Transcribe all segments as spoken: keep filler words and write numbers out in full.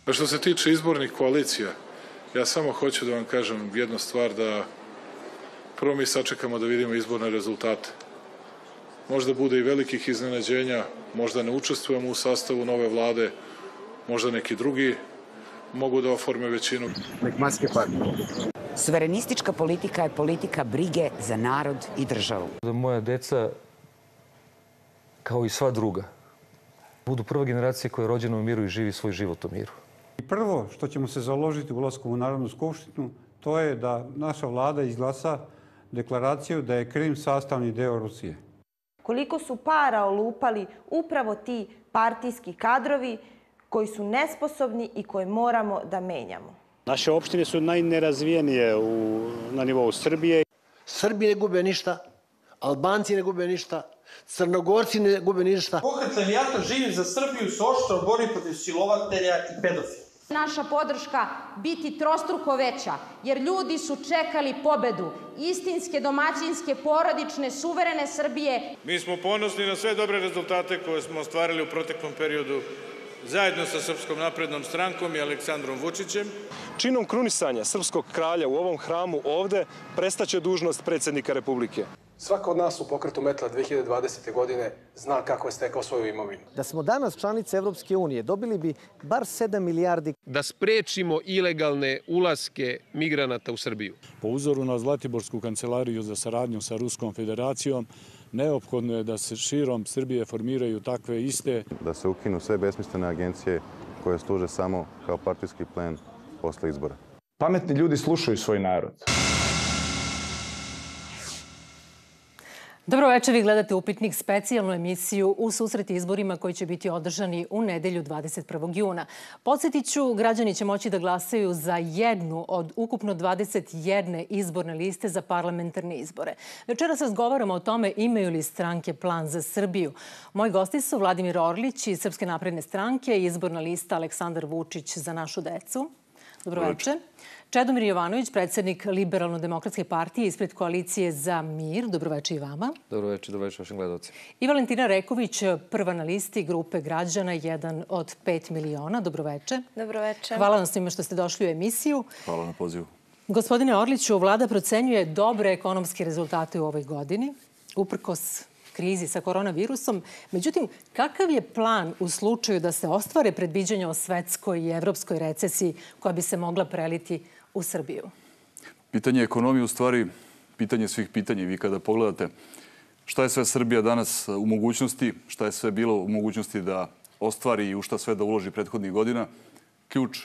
A što se tiče izbornih koalicija, ja samo hoću da vam kažem jednu stvar, da prvo mi sačekamo da vidimo izborne rezultate. Možda bude i velikih iznenađenja, možda ne učestvujemo u sastavu nove vlade, možda neki drugi mogu da oforme većinu. Suverenistička politika je politika brige za narod i državu. Da moja deca, kao i sva druga, budu prva generacija koja je rođena u miru i živi svoj život u miru. Prvo što ćemo se založiti ulaskom u Narodnu skupštinu, to je da naša vlada izglasa deklaraciju da je Krim sastavni deo Rusije. Koliko su para olupali upravo ti partijski kadrovi koji su nesposobni i koje moramo da menjamo. Naše opštine su najnerazvijenije u, na nivou Srbije. Srbi ne gube ništa, Albanci ne gube ništa, Crnogorci ne gube ništa. Pokret Levijata živi za Srbiju se oštro bori protiv silovatelja i pedofila. Naša podrška biti trostruko veća, jer ljudi su čekali pobedu istinske, domaćinske, porodične, suverene Srbije. Mi smo ponosni na sve dobre rezultate koje smo ostvarili u proteklom periodu zajedno sa Srpskom naprednom strankom i Aleksandrom Vučićem. Činom krunisanja srpskog kralja u ovom hramu ovde prestaće dužnost predsjednika Republike. Svako od nas u pokretu Metla dve hiljade dvadesete. godine zna kako je stekao svoju imovinu. Da smo danas članice Evropske unije, dobili bi bar sedam milijardi. Da sprečimo ilegalne ulaske migranata u Srbiju. Po uzoru na Zlatiborsku kancelariju za saradnju sa Ruskom federacijom, neophodno je da se širom Srbije formiraju takve iste. Da se ukinu sve besmislene agencije koje služe samo kao partijski plen posle izbora. Pametni ljudi slušaju svoj narod. Dobro večer, vi gledate Upitnik, specijalnu emisiju u susret izborima koji će biti održani u nedelju dvadeset prvog juna. Podsjetit ću, građani će moći da glasaju za jednu od ukupno dvadeset jedne izborne liste za parlamentarne izbore. Večeras razgovaramo o tome imaju li stranke plan za Srbiju. Moji gosti su Vladimir Orlić iz Srpske napredne stranke i izborna lista Aleksandar Vučić za našu decu. Dobro večer. Čedomir Jovanović, predsjednik Liberalno-demokratske partije ispred Koalicije za mir. Dobroveče i vama. Dobroveče, dobroveče vašim gledalcima. I Valentina Reković, prva na listi grupe građana, jedan od pet miliona. Dobroveče. Dobroveče. Hvala vam svima što ste došli u emisiju. Hvala na pozivu. Gospodine Orliću, vlada procenjuje dobre ekonomske rezultate u ovoj godini, uprkos krizi sa koronavirusom. Međutim, kakav je plan u slučaju da se ostvare predviđanja o svetskoj i evropskoj recesiji koja bi se mogla preliti u Srbiju? Pitanje ekonomije u stvari pitanje svih pitanja. Vi kada pogledate šta je sve Srbija danas u mogućnosti, šta je sve bilo u mogućnosti da ostvari i u šta sve da uloži prethodnih godina, ključ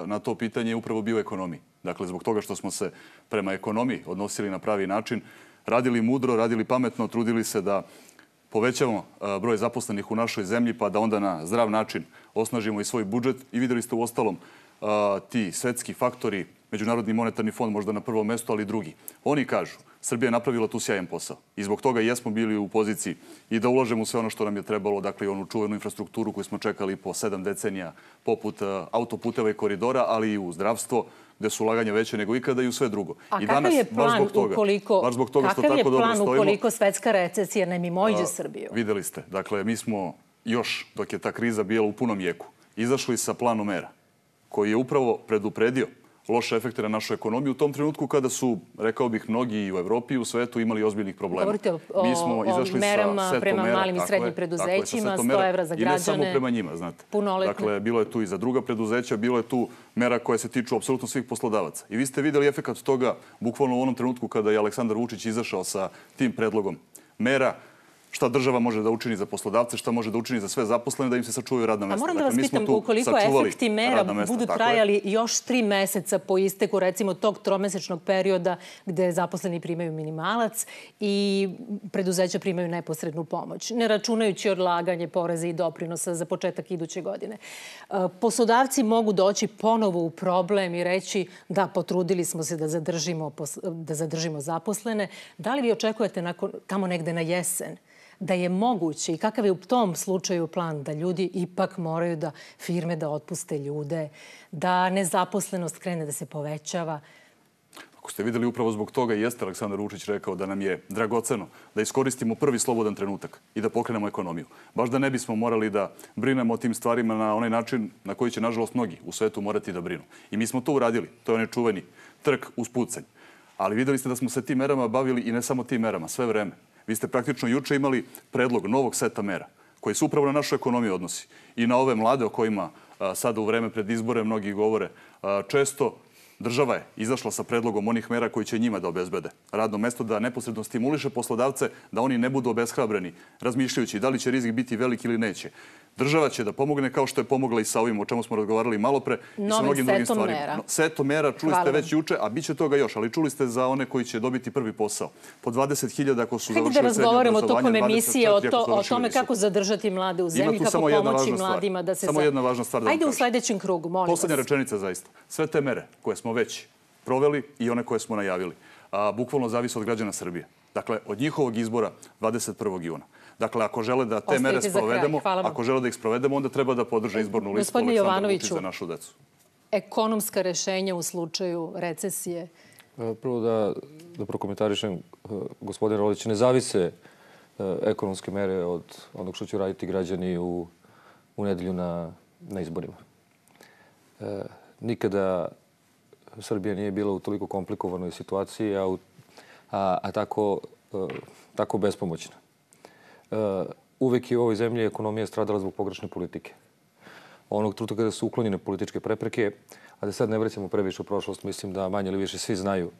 na to pitanje je upravo bio ekonomiji. Dakle, zbog toga što smo se prema ekonomiji odnosili na pravi način, radili mudro, radili pametno, trudili se da povećamo broj zaposlenih u našoj zemlji, pa da onda na zdrav način osnažimo i svoj budžet. I vidjeli ste u ostalom ti svetski faktori, Međunarodni monetarni fond možda na prvom mjestu, ali i drugi. Oni kažu, Srbija je napravila tu sjajan posao. I zbog toga jesmo bili u poziciji i da ulažemo u sve ono što nam je trebalo, dakle i onu čuvenu infrastrukturu koju smo čekali po sedam decenija, poput autoputeva i koridora, ali i u zdravstvo, gde su ulaganja veće nego ikada i u sve drugo. A I kakav danas, je plan ukoliko, baš zbog toga što kakav je tako dobro plan stojimo, ukoliko svetska recesija ne mimoiđe Srbiju? Videli ste. Dakle, mi smo još, dok je ta kriza bila u punom jeku, izašli sa planom mera koji je upravo predupredio loše efekte na našu ekonomiju u tom trenutku kada su, rekao bih, mnogi i u Evropi i u svetu imali ozbiljnih problema. Govorite o, o merama prema malim i srednjim preduzećima, sto evra za građane. I ne samo prema njima, znate. Dakle, bilo je tu i za druga preduzeća, bilo je tu mera koje se tiču apsolutno svih poslodavaca. I vi ste vidjeli efekat toga bukvalno u onom trenutku kada je Aleksandar Vučić izašao sa tim predlogom mera, šta država može da učini za poslodavce, šta može da učini za sve zaposlene, da im se sačuvaju radna mjesta. A moram da vas pitam, ukoliko efekti mera budu trajali još tri meseca po isteku, recimo, tog tromesečnog perioda gde zaposleni primaju minimalac i preduzeća primaju neposrednu pomoć, ne računajući odlaganje poreza i doprinosa za početak iduće godine. Poslodavci mogu doći ponovo u problem i reći da potrudili smo se da zadržimo, da zadržimo zaposlene. Da li vi očekujete nakon, tamo negde na jesen da je moguće i kakav je u tom slučaju plan da ljudi ipak moraju da firme da otpuste ljude, da nezaposlenost krene da se povećava? Ako ste videli, upravo zbog toga jeste Aleksandar Vučić rekao da nam je dragoceno da iskoristimo prvi slobodan trenutak i da pokrenemo ekonomiju. Baš da ne bismo morali da brinemo o tim stvarima na onaj način na koji će, nažalost, mnogi u svetu morati da brinu. I mi smo to uradili. To je onaj čuveni trk uz pucanj. Ali videli ste da smo se tim merama bavili i ne samo tim merama, sve vreme. Vi ste praktično juče imali predlog novog seta mera koji se upravo na našu ekonomiju odnosi i na ove mlade o kojima a, sada u vreme pred izbore mnogi govore. A, često država je izašla sa predlogom onih mera koji će njima da obezbede radno mesto, da neposredno stimuliše poslodavce da oni ne budu obeshrabreni, razmišljajući da li će rizik biti velik ili neće. Država će da pomogne kao što je pomogla i sa ovim o čemu smo razgovarali malo pre i sa mnogim drugim stvarima. Mera. No, setom mera čuli ste već juče, a bit će toga još, ali čuli ste za one koji će dobiti prvi posao. Po dvadeset hiljada ako su završili srednje obrazovanje. Hajde da razgovaramo tokom emisije o, to, o tome kako zadržati mlade u zemlji, kako pomoći mladima da se... Samo jedna važna stvar da vam Hajde kažem. u sljedećem krugu, molim vas. Poslednja rečenica zaista. Sve te mere koje smo već proveli i one koje smo najavili, a, bukvalno zavise od građana Srbije. Dakle, od njihovog izbora dvadeset prvog juna. Dakle, ako žele da te mere sprovedemo, ako žele da ih sprovedemo, onda treba da podrže izbornu listu Aleksandra Vučića za našu decu. Ekonomska rešenja u slučaju recesije? Prvo da, da prokomentarišem, gospodin Rolić, ne zavise ekonomske mere od onog što će raditi građani u, u nedelju na, na izborima. E, nikada Srbija nije bila u toliko komplikovanoj situaciji, a, u, a, a tako, tako bespomoćna. Uvek je u ovoj zemlji ekonomija stradala zbog pogrešne politike. Onog trenutka kada su uklonjene političke prepreke, a da sad ne vraćamo previše u prošlost, mislim da manje ili više svi znaju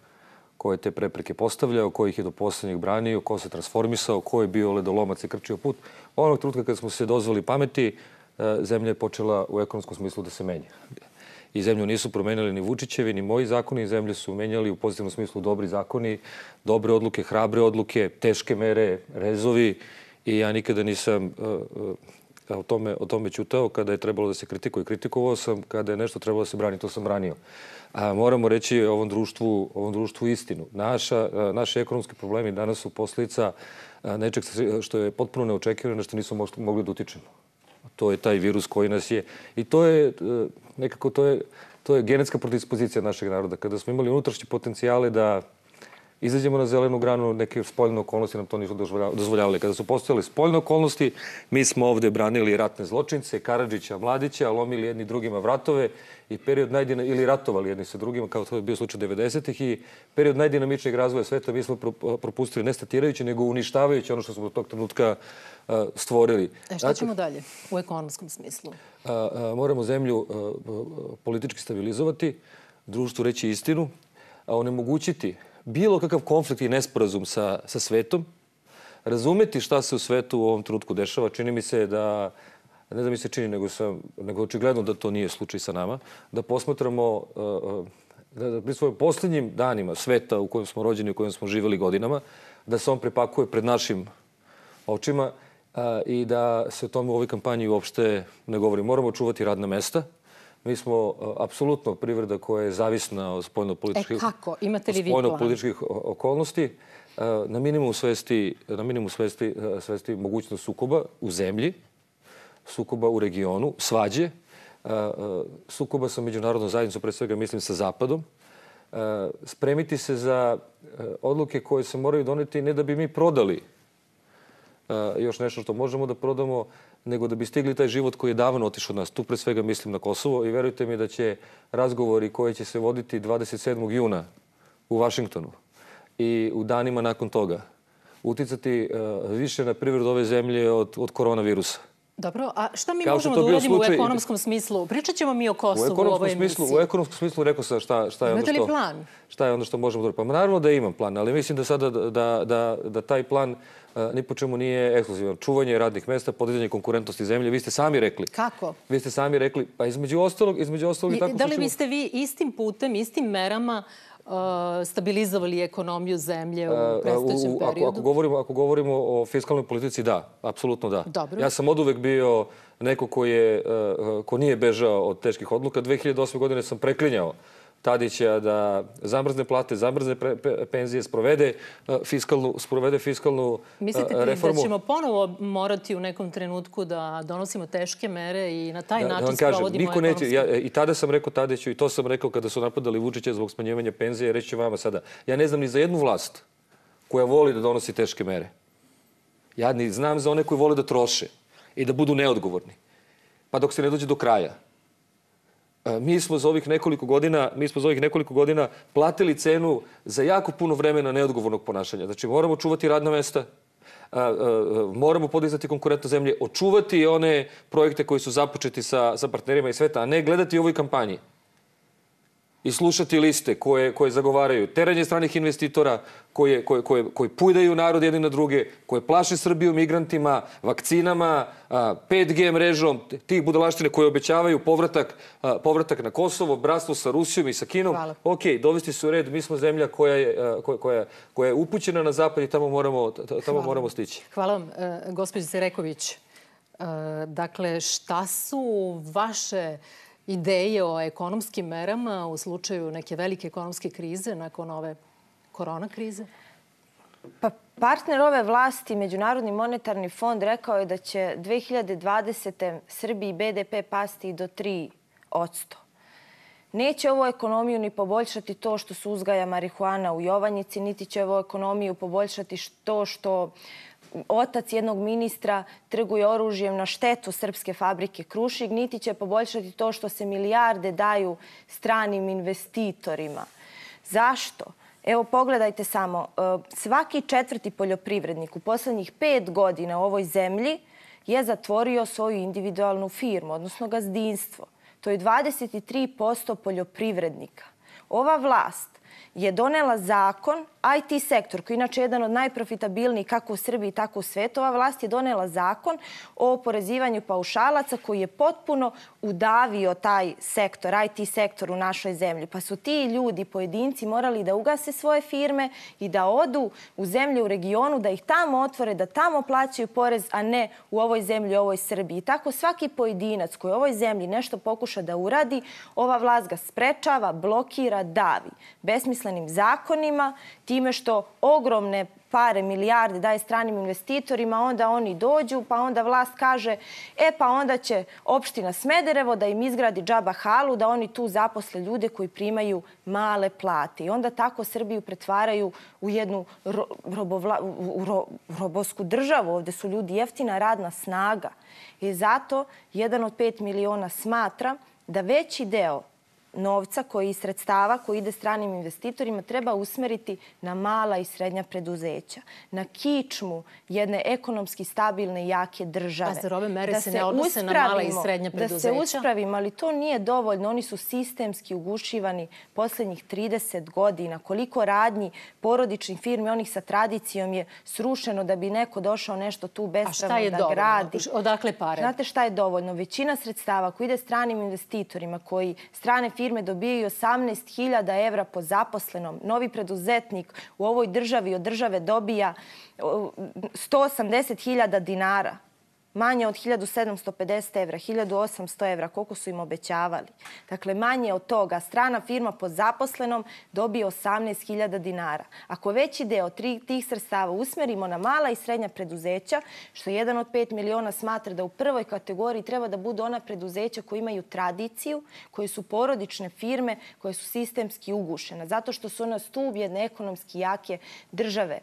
ko je te prepreke postavljao, ko ih je do poslednjeg branio, ko se transformisao, ko je bio ledolomac i krčio put. Onog trenutka kada smo se dozvali pameti, zemlja je počela u ekonomskom smislu da se menja. I zemlju nisu promenili ni Vučićevi, ni moji zakoni. Zemlju su menjali u pozitivnom smislu dobri zakoni, dobre odluke, hrabre odluke, teške mere, rezovi. I ja nikada nisam uh, uh, o tome, o tome ćutao. Kada je trebalo da se kritikuje, kritikovao sam. Kada je nešto trebalo da se brani, to sam branio. A moramo reći ovom društvu, ovom društvu istinu. Naša, uh, naši ekonomski problemi danas su posljedica uh, nečeg što je potpuno neočekivano, na što nismo mogli da utičemo. To je taj virus koji nas je. I to je uh, nekako, to je, to je genetska predispozicija našeg naroda. Kada smo imali unutrašnje potencijale da izađemo na zelenu granu, neke spoljne okolnosti nam to nisu dozvoljavali. Kada su postojale spoljne okolnosti, mi smo ovde branili ratne zločince, Karadžića, Mladića, lomili jedni drugima vratove i period najdina, ili ratovali jedni sa drugima, kao to je bio slučaj devedesetih i period najdinamičnijeg razvoja sveta mi smo propustili ne statirajući, nego uništavajući ono što smo do tog trenutka uh, stvorili. E šta ćemo dalje u ekonomskom smislu? Uh, uh, moramo zemlju uh, politički stabilizovati, društvu reći istinu, a onemogućiti bilo kakav konflikt i nesporazum sa, sa svetom, razumeti šta se u svetu u ovom trenutku dešava. Čini mi se da, ne da mi se čini, nego, sam, nego očigledno da to nije slučaj sa nama, da posmatramo, da, da pri svojim posljednjim danima sveta u kojem smo rođeni, u kojem smo živjeli godinama, da se on prepakuje pred našim očima a, i da se o tome u ovoj kampanji uopšte ne govori. Moramo čuvati radna mesta. Mi smo apsolutno privreda koja je zavisna od spoljno-političkih, e kako? Imate li vi spoljno-političkih okolnosti. Na minimum svesti, na minimum svesti, svesti mogućnost sukoba u zemlji, sukoba u regionu, svađe, sukoba sa međunarodnom zajednicom, pre svega mislim sa Zapadom. Spremiti se za odluke koje se moraju doneti ne da bi mi prodali još nešto što možemo da prodamo, nego da bi stigli taj život koji je davno otišao od nas. Tu pre svega mislim na Kosovo i verujte mi da će razgovori koji će se voditi dvadeset sedmog juna u Vašingtonu i u danima nakon toga uticati uh, više na privredu ove zemlje od, od koronavirusa. Dobro, a šta mi možemo da uradimo slučaj... u ekonomskom smislu? Pričat ćemo mi o Kosovu u, u ovoj smislu, emisiji. U ekonomskom smislu rekao sam šta, šta je onda što... Imate li plan? Šta je onda što možemo da uradimo? Pa naravno da imam plan, ali mislim da sada da, da, da, da taj plan uh, ni po čemu nije ekskluzivan. Čuvanje radnih mesta, podizanje konkurentnosti zemlje. Vi ste sami rekli. Kako? Vi ste sami rekli, pa između ostalog, između ostalog i tako... Da li biste vi istim putem, istim merama Uh, stabilizovali ekonomiju zemlje u predstojećem periodu? Ako, ako, govorimo, ako govorimo o fiskalnoj politici, da. Apsolutno da. Dobro. Ja sam oduvek bio neko ko, je, uh, ko nije bežao od teških odluka. dve hiljade osme godine sam preklinjao Tadića da zamrzne plate, zamrzne penzije, sprovede fiskalnu, sprovede fiskalnu Mislite reformu. da ćemo ponovo morati u nekom trenutku da donosimo teške mere i na taj način sprovodimo ekonomski? I tada sam rekao Tadiću, i to sam rekao kada su napadali Vučića zbog smanjivanja penzije, reći ću vama sada. Ja ne znam ni za jednu vlast koja voli da donosi teške mere. Ja ni znam za one koji vole da troše i da budu neodgovorni. Pa dok se ne dođe do kraja. Mi smo za ovih nekoliko godina, mi smo za ovih nekoliko godina platili cenu za jako puno vremena neodgovornog ponašanja. Znači, moramo čuvati radna mesta, moramo podizati konkurentno zemlje, očuvati one projekte koji su započeti sa, sa partnerima i sveta, a ne gledati u ovoj kampanji i slušati liste koje, koje zagovaraju teranje stranih investitora, koje, koje, koje, koji pujdaju narod jedni na druge, koje plaše Srbiju migrantima, vakcinama, pet G mrežom, tih budalaštine koje obećavaju povratak, povratak na Kosovo, bratstvo sa Rusijom i sa Kinom. Hvala. Ok, dovesti se u red, mi smo zemlja koja je, koja, koja je upućena na zapad i tamo moramo, tamo moramo stići. Hvala vam, gospođice Reković. Dakle, šta su vaše ideje o ekonomskim merama u slučaju neke velike ekonomske krize nakon ove korona krize? Pa partner ove vlasti, Međunarodni monetarni fond, rekao je da će dve hiljade dvadesete. Srbiji B D P pasti do tri posto. Neće ovo ekonomiju ni poboljšati to što se uzgaja marihuana u Jovanjici, niti će ovo ekonomiju poboljšati to što otac jednog ministra trguje oružjem na štetu srpske fabrike Krušik, niti će poboljšati to što se milijarde daju stranim investitorima. Zašto? Evo, pogledajte samo. Svaki četvrti poljoprivrednik u poslednjih pet godina u ovoj zemlji je zatvorio svoju individualnu firmu, odnosno gazdinstvo. To je dvadeset tri posto poljoprivrednika. Ova vlast je donela zakon, I T sektor, koji je inače jedan od najprofitabilnijih kako u Srbiji, tako u svetu, ova vlast je donela zakon o oporezivanju paušalaca koji je potpuno udavio taj sektor, I T sektor u našoj zemlji. Pa su ti ljudi, pojedinci, morali da ugase svoje firme i da odu u zemlje u regionu, da ih tamo otvore, da tamo plaćaju porez, a ne u ovoj zemlji, u ovoj Srbiji. I tako svaki pojedinac koji u ovoj zemlji nešto pokuša da uradi, ova vlast ga sprečava, blokira, davi. Besmislenim zakonima, time što ogromne pare, milijarde daje stranim investitorima, onda oni dođu, pa onda vlast kaže, e pa onda će opština Smederevo da im izgradi džaba halu, da oni tu zaposle ljude koji primaju male plate. I onda tako Srbiju pretvaraju u jednu ro, robovla, u ro, robovsku državu. Ovde su ljudi jeftina radna snaga. I zato jedan od pet miliona smatra da veći deo novca koji iz sredstava koji ide stranim investitorima treba usmeriti na mala i srednja preduzeća, na kičmu jedne ekonomski stabilne i jake države. A zar ove mere se ne odnose na mala i srednja preduzeća? Da se uspravimo, ali to nije dovoljno. Oni su sistemski ugušivani poslednjih trideset godina. Koliko radnji porodičnih firmi, onih sa tradicijom, je srušeno da bi neko došao nešto tu bespravno da gradi. Odakle pare? Znate šta je dovoljno? Većina sredstava koji ide stranim investitorima, koji strane firme dobijaju osamnaest hiljada evra po zaposlenom. Novi preduzetnik u ovoj državi od države dobija sto osamdeset hiljada dinara. Manje od hiljadu sedamsto pedeset evra, hiljadu osamsto evra, koliko su im obećavali. Dakle, manje od toga. Strana firma po zaposlenom dobije osamnaest hiljada dinara. Ako veći deo tih sredstava usmerimo na mala i srednja preduzeća, što jedan od pet miliona smatra da u prvoj kategoriji treba da budu ona preduzeća koji imaju tradiciju, koje su porodične firme, koje su sistemski ugušene, zato što su ona stub jedne ekonomski jake države.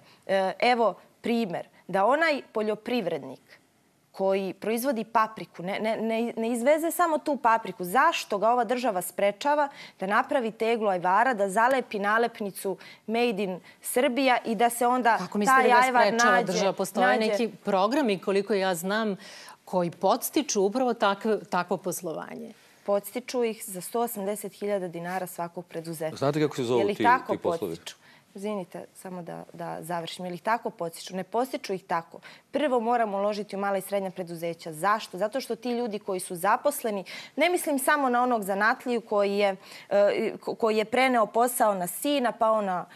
Evo primer, da onaj poljoprivrednik koji proizvodi papriku, ne, ne, ne izveze samo tu papriku. Zašto ga ova država sprečava da napravi teglu ajvara, da zalepi nalepnicu Made in Srbija i da se onda Kako taj ajvar nađe? nađe... Država, postoje neki programi, koliko ja znam, koji podstiču upravo takve, takvo poslovanje. Podstiču ih za sto osamdeset hiljada dinara svakog preduzeća. Znate kako se zovu ti, ti poslovi? Izvinite, samo da, da završim. Ili ih tako podstiču? Ne podstiču ih tako. Prvo moramo uložiti u mala i srednja preduzeća. Zašto? Zato što ti ljudi koji su zaposleni, ne mislim samo na onog zanatliju koji je, koji je preneo posao na sina, pa ona,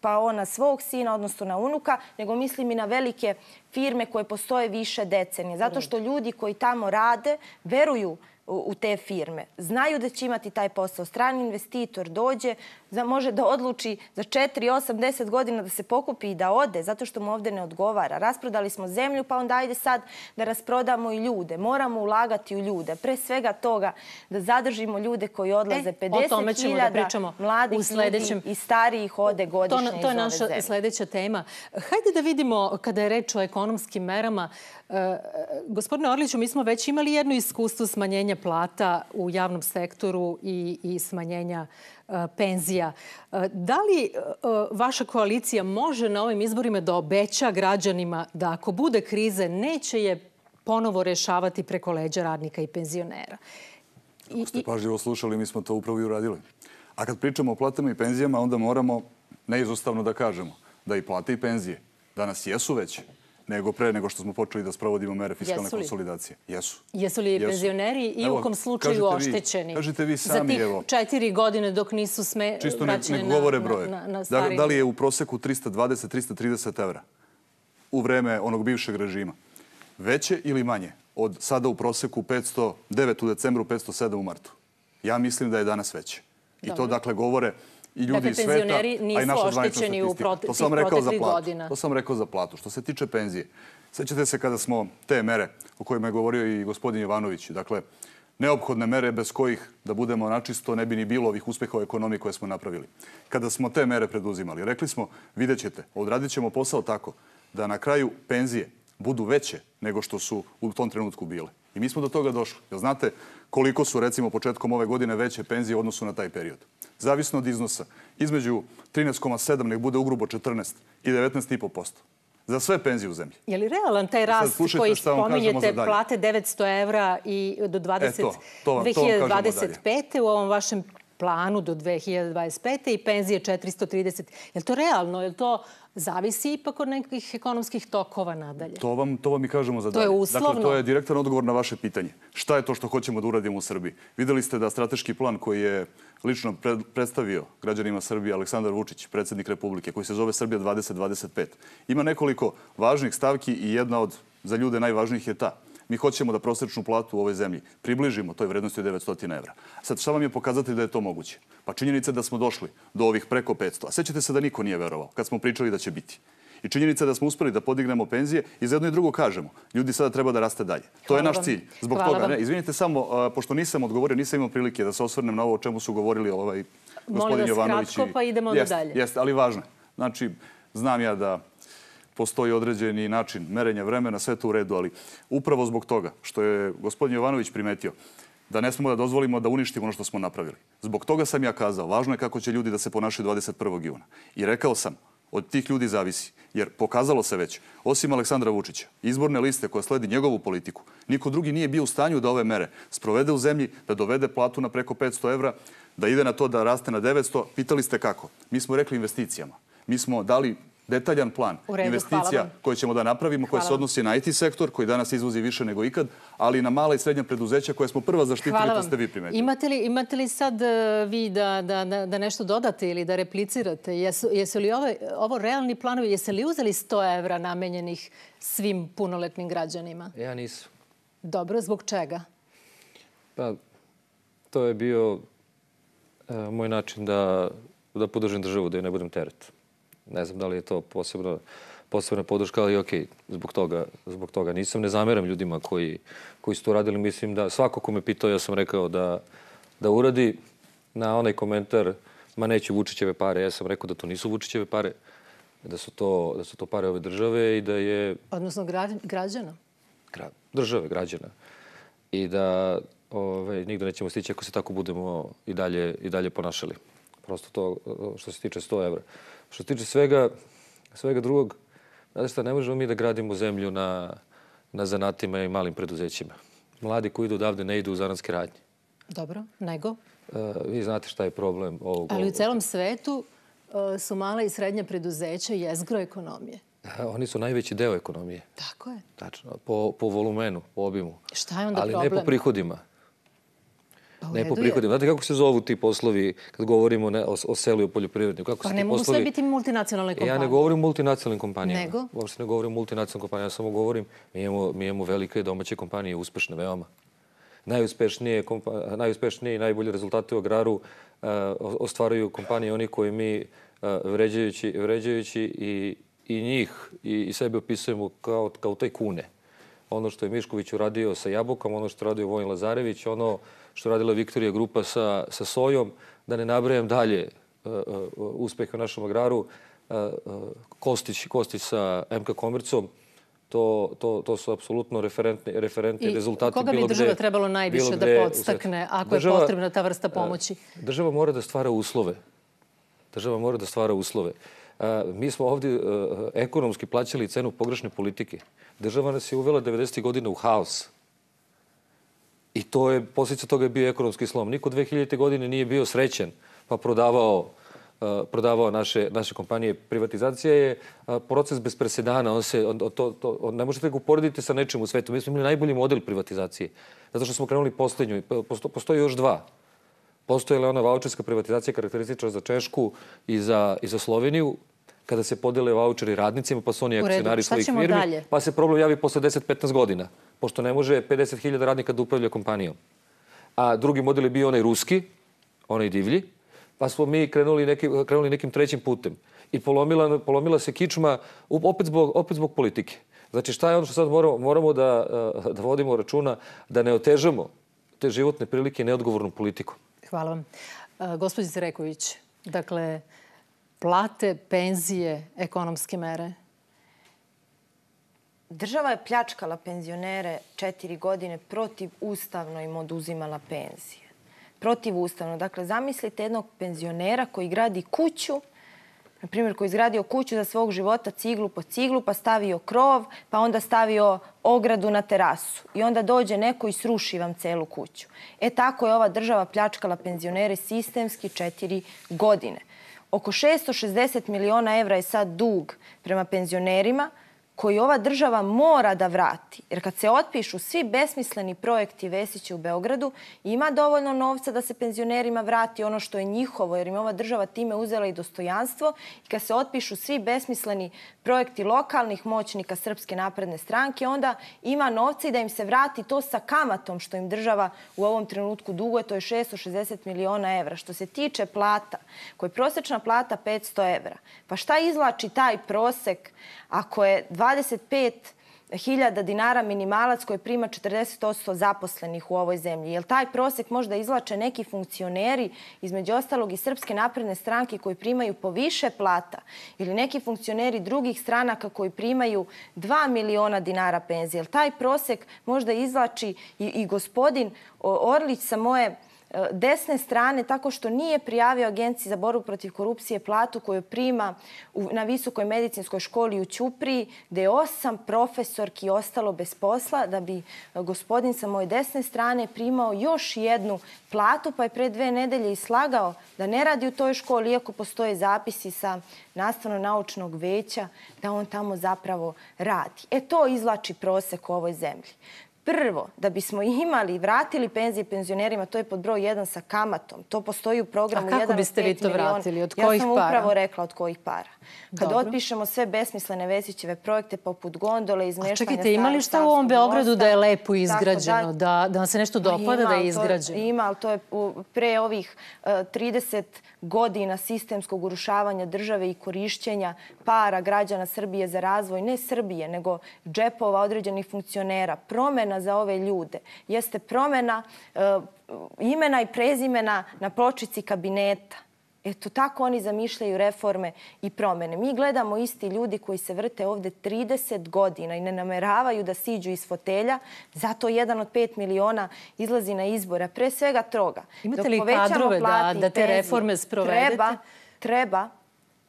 pa ona svog sina, odnosno na unuka, nego mislim i na velike firme koje postoje više decenije. Zato što ljudi koji tamo rade veruju u te firme. Znaju da će imati taj posao. Strani investitor dođe, može da odluči za četiri, osam, deset godina da se pokupi i da ode, zato što mu ovde ne odgovara. Rasprodali smo zemlju, pa onda ajde sad da rasprodamo i ljude. Moramo ulagati u ljude. Pre svega toga da zadržimo ljude koji odlaze. pedeset hiljada mladih ljudi i starijih ode godišnje iz ove zemlje. To je naša sljedeća tema. Hajde da vidimo, kada je reč o ekonomskim merama, gospodine Orliću, mi smo već imali jedno iskustvo smanjenja plata u javnom sektoru i, i smanjenja uh, penzija. Uh, da li uh, vaša koalicija može na ovim izborima da obeća građanima da ako bude krize neće je ponovo rešavati preko leđa radnika i penzionera? Ako ste pažljivo slušali, mi smo to upravo i uradili. A kad pričamo o platama i penzijama, onda moramo neizostavno da kažemo da i plate i penzije danas jesu veće nego pre nego što smo počeli da sprovodimo mere fiskalne konsolidacije. Jesu. Jesu li penzioneri i u kom slučaju oštećeni? Kažete vi sami, evo. Za tih četiri godine dok nisu sme vraćene na stvari. Da li je u proseku trista dvadeset do trista trideset evra u vreme onog bivšeg režima veće ili manje od sada u proseku petsto devet u decembru, petsto sedam u martu? Ja mislim da je danas veće. I to dakle govore i ljudi iz sveta, a i naša zvanična statistika. To sam rekao za platu. To sam rekao za platu. Što se tiče penzije, sećate se kada smo te mere o kojima je govorio i gospodin Jovanović, dakle, neophodne mere bez kojih, da budemo načisto, ne bi ni bilo ovih uspeha u ekonomiji koje smo napravili. Kada smo te mere preduzimali, rekli smo, vidjet ćete, odradit ćemo posao tako da na kraju penzije budu veće nego što su u tom trenutku bile. I mi smo do toga došli. Jel znate koliko su, recimo, početkom ove godine veće penzije u odnosu na taj period? Zavisno od iznosa. Između trinaest zarez sedam, nek bude ugrubo četrnaest, i devetnaest zarez pet posto. Za sve penzije u zemlji. Je li realan taj rast koji spominjete, plate devetsto evra i do dve hiljade dvadeset pete u ovom vašem planu do dve hiljade dvadeset pete i penzije četiristo trideset? Je li to realno? Je li to zavisi ipak od nekih ekonomskih tokova nadalje? To vam, to vam i kažemo za dalje. To je uslovno. Dakle, to je direktan odgovor na vaše pitanje. Šta je to što hoćemo da uradimo u Srbiji? Videli ste da strateški plan koji je lično predstavio građanima Srbije Aleksandar Vučić, predsjednik Republike, koji se zove Srbija dvadeset dvadeset pet, ima nekoliko važnih stavki i jedna od za ljude najvažnijih je ta. Mi hoćemo da prosječnu platu u ovoj zemlji približimo toj vrednosti od devetsto evra. Sad, šta vam je pokazati da je to moguće? Pa činjenica je da smo došli do ovih preko petsto. A sećate se da niko nije verovao kad smo pričali da će biti. I činjenica je da smo uspeli da podignemo penzije i za jedno i drugo kažemo. Ljudi sada treba da raste dalje. To je naš cilj. Zbog toga, ne, izvinite samo, pošto nisam odgovorio, nisam imao prilike da se osvrnem na ovo o čemu su govorili ovaj gospodin Jovanović. Molim vas kratko, pa idemo jest, dalje. Jeste, ali važno. Znači, znam ja da postoji određeni način merenja vremena, sve to u redu, ali upravo zbog toga što je gospodin Jovanović primetio da ne smemo da dozvolimo da uništimo ono što smo napravili. Zbog toga sam ja kazao, važno je kako će ljudi da se ponašaju dvadeset prvog juna. I rekao sam, od tih ljudi zavisi. Jer pokazalo se već, osim Aleksandra Vučića, izborne liste koja sledi njegovu politiku, niko drugi nije bio u stanju da ove mere sprovede u zemlji, da dovede platu na preko petsto evra, da ide na to da raste na devetsto. Pitali ste kako? Mi smo rekli investicijama. Mi smo dali detaljan plan investicija koje ćemo da napravimo, koje se odnosi na I T sektor, koji danas izvozi više nego ikad, ali i na mala i srednja preduzeća koje smo prva zaštitili, to ste vi primetili. Imate li, imate li sad vi da, da, da nešto dodate ili da replicirate? Jesu, jesu li ove, ovo realni planovi? Jeste li uzeli sto evra namenjenih svim punoletnim građanima? Ja nisam. Dobro, zbog čega? Pa, to je bio e, moj način da, da podržim državu, da joj ne budem teret. Ne znam da li je to posebno, posebna podrška, ali okej, zbog toga, zbog toga nisam. Ne zameram ljudima koji, koji su to radili. Mislim da svako ko me pitao, ja sam rekao da, da uradi na onaj komentar, ma neću Vučićeve pare. Ja sam rekao da to nisu Vučićeve pare, da su to, da su to pare ove države i da je... Odnosno građana? Gra, države, građana. I da ove, nigde nećemo stići ako se tako budemo i dalje, i dalje ponašali. Prosto to što se tiče sto evra. Što se tiče svega, svega drugog, znate šta, ne možemo mi da gradimo zemlju na, na zanatima i malim preduzećima. Mladi koji idu odavde ne idu u zanatske radnje. Dobro, nego? Uh, vi znate šta je problem ovog... Ali u celom svetu uh, su mala i srednja preduzeća jezgro ekonomije. Oni su najveći deo ekonomije. Tako je. Tačno, po, po volumenu, po obimu. Šta je onda ali problem? Ali ne po prihodima. Ne po prihodima. Znate kako se zovu ti poslovi kad govorimo ne, o, o selu i o poljoprivredniku? Kako pa se ne ti mogu poslovi... sve biti multinacionalne kompanije. Ja ne govorim o multinacionalnim kompanijama. Nego? Uopšte ne govorim o multinacionalnim kompanijama. Ja samo govorim, mi imamo, mi imamo velike domaće kompanije, uspešne veoma. najuspešnije, najuspešnije i najbolje rezultate u agraru ostvaruju kompanije, oni koji mi vređajući, vređajući i, i njih i, i sebe opisujemo kao, kao tajkune. Ono što je Mišković uradio sa jabukom, ono što je radio Vojin Lazarević, ono što je radila Viktorija grupa sa, sa sojom, da ne nabrajam dalje uh, uh, uspehe u našem agraru, uh, uh, Kostić, Kostić sa M K Komercom, to, to, to su apsolutno referentni, referentni I rezultati. koga bi država trebalo najviše da podstakne ako država, je potrebna ta vrsta pomoći? Država mora da stvara uslove. Država mora da stvara uslove. Uh, mi smo ovdje uh, ekonomski plaćali cenu pogrešne politike. Država nas je uvela devedesetih godina u haos. I to je, posljedica toga je bio ekonomski slom. Niko dve hiljadite godine nije bio srećen pa prodavao, uh, prodavao naše, naše kompanije. Privatizacija je uh, proces bez presedana. On se, on, to, to, on, ne možete ga uporediti sa nečim u svetu. Mi smo imali najbolji model privatizacije. Zato što smo krenuli posljednju. Posto, postoji još dva. Postoji li ona vaučerska privatizacija karakteristična za Češku i za, i za Sloveniju, kada se podele vaučeri radnicima, pa su oni akcionari svojih firmi, dalje? Pa se problem javi posle deset do petnaest godina, pošto ne može pedeset hiljada radnika da upravlja kompanijom. A drugi model je bio onaj ruski, onaj divlji, pa smo mi krenuli, neki, krenuli nekim trećim putem. I polomila, polomila se kičma opet zbog, opet zbog politike. Znači šta je ono što sad moramo, moramo da, da vodimo računa, da ne otežamo te životne prilike neodgovornom politikom. Hvala vam. Gospođice Reković, dakle, plate, penzije, ekonomske mere? Država je pljačkala penzionere četiri godine, protivustavno im oduzimala penzije. Protivustavno. Dakle, zamislite jednog penzionera koji gradi kuću, na primjer koji je izgradio kuću za svog života ciglu po ciglu, pa stavio krov, pa onda stavio ogradu na terasu. I onda dođe neko i sruši vam celu kuću. E tako je ova država pljačkala penzionere sistemski četiri godine. Oko šesto šezdeset miliona evra je sad dug prema penzionerima koji ova država mora da vrati. Jer kad se otpišu svi besmisleni projekti Vesića u Beogradu, ima dovoljno novca da se penzionerima vrati ono što je njihovo, jer im ova država time uzela i dostojanstvo. I kad se otpišu svi besmisleni projekti lokalnih moćnika Srpske napredne stranke, onda ima novca i da im se vrati to sa kamatom što im država u ovom trenutku duguje, to je šesto šezdeset miliona evra. Što se tiče plata, koja je prosječna plata petsto evra, pa šta izvlači taj prosek ako je dvadeset pet hiljada dinara minimalac koji prima četrdeset posto zaposlenih u ovoj zemlji? Jel taj prosek možda izvlače neki funkcioneri, između ostalog i Srpske napredne stranke, koji primaju po više plata, ili neki funkcioneri drugih stranaka koji primaju dva miliona dinara penzije? Jel taj prosek možda izvlači i, i gospodin Orlić sa moje desne strane tako što nije prijavio Agenciji za borbu protiv korupcije platu koju prima na Visokoj medicinskoj školi u Ćupriji, gde je osam profesorki ostalo bez posla, da bi gospodin sa moje desne strane primao još jednu platu, pa je pre dve nedelje i slagao da ne radi u toj školi, iako postoje zapisi sa nastavno-naučnog veća da on tamo zapravo radi. E to izvlači prosek u ovoj zemlji. Prvo, da bismo imali, vratili penzije penzionerima, to je pod broj jedan sa kamatom. To postoji u programu jedan od pet miliona. A kako biste vi to vratili? Od kojih para? Ja sam upravo rekla od kojih para. Kad otpišemo sve besmislene Vesićeve projekte poput gondole, izmeštanja... A čekajte, ima li šta u ovom Beogradu da je lepo izgrađeno? Da vam se nešto dopada da je izgrađeno? Ima, ali to je pre ovih trideset godina sistemskog urušavanja države i korišćenja para građana Srbije za razvoj, ne Srbije, nego džepova određenih funkcionera. Promena za ove ljude jeste promena uh, imena i prezimena na pločici kabineta. Eto, tako oni zamišljaju reforme i promene. Mi gledamo isti ljudi koji se vrte ovde trideset godina i ne nameravaju da siđu iz fotelja, zato jedan od pet miliona izlazi na izbora. Pre svega toga. Imate li kadrove da, da te reforme sprovedete? Treba, treba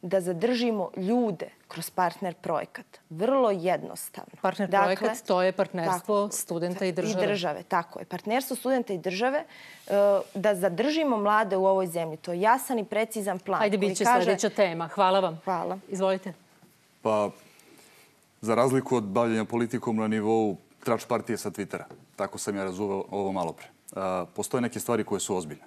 da zadržimo ljude kroz partner projekat. Vrlo jednostavno. Partner dakle, projekat, to je partnerstvo tako, studenta i države. I države, tako je. Partnerstvo studenta i države, da zadržimo mlade u ovoj zemlji. To je jasan i precizan plan. Ajde, bit će kaže... sljedeća tema. Hvala vam. Hvala. Izvolite. Pa, za razliku od bavljanja politikom na nivou trač partije sa Twittera, tako sam ja razuveo ovo malo pre, postoje neke stvari koje su ozbiljne.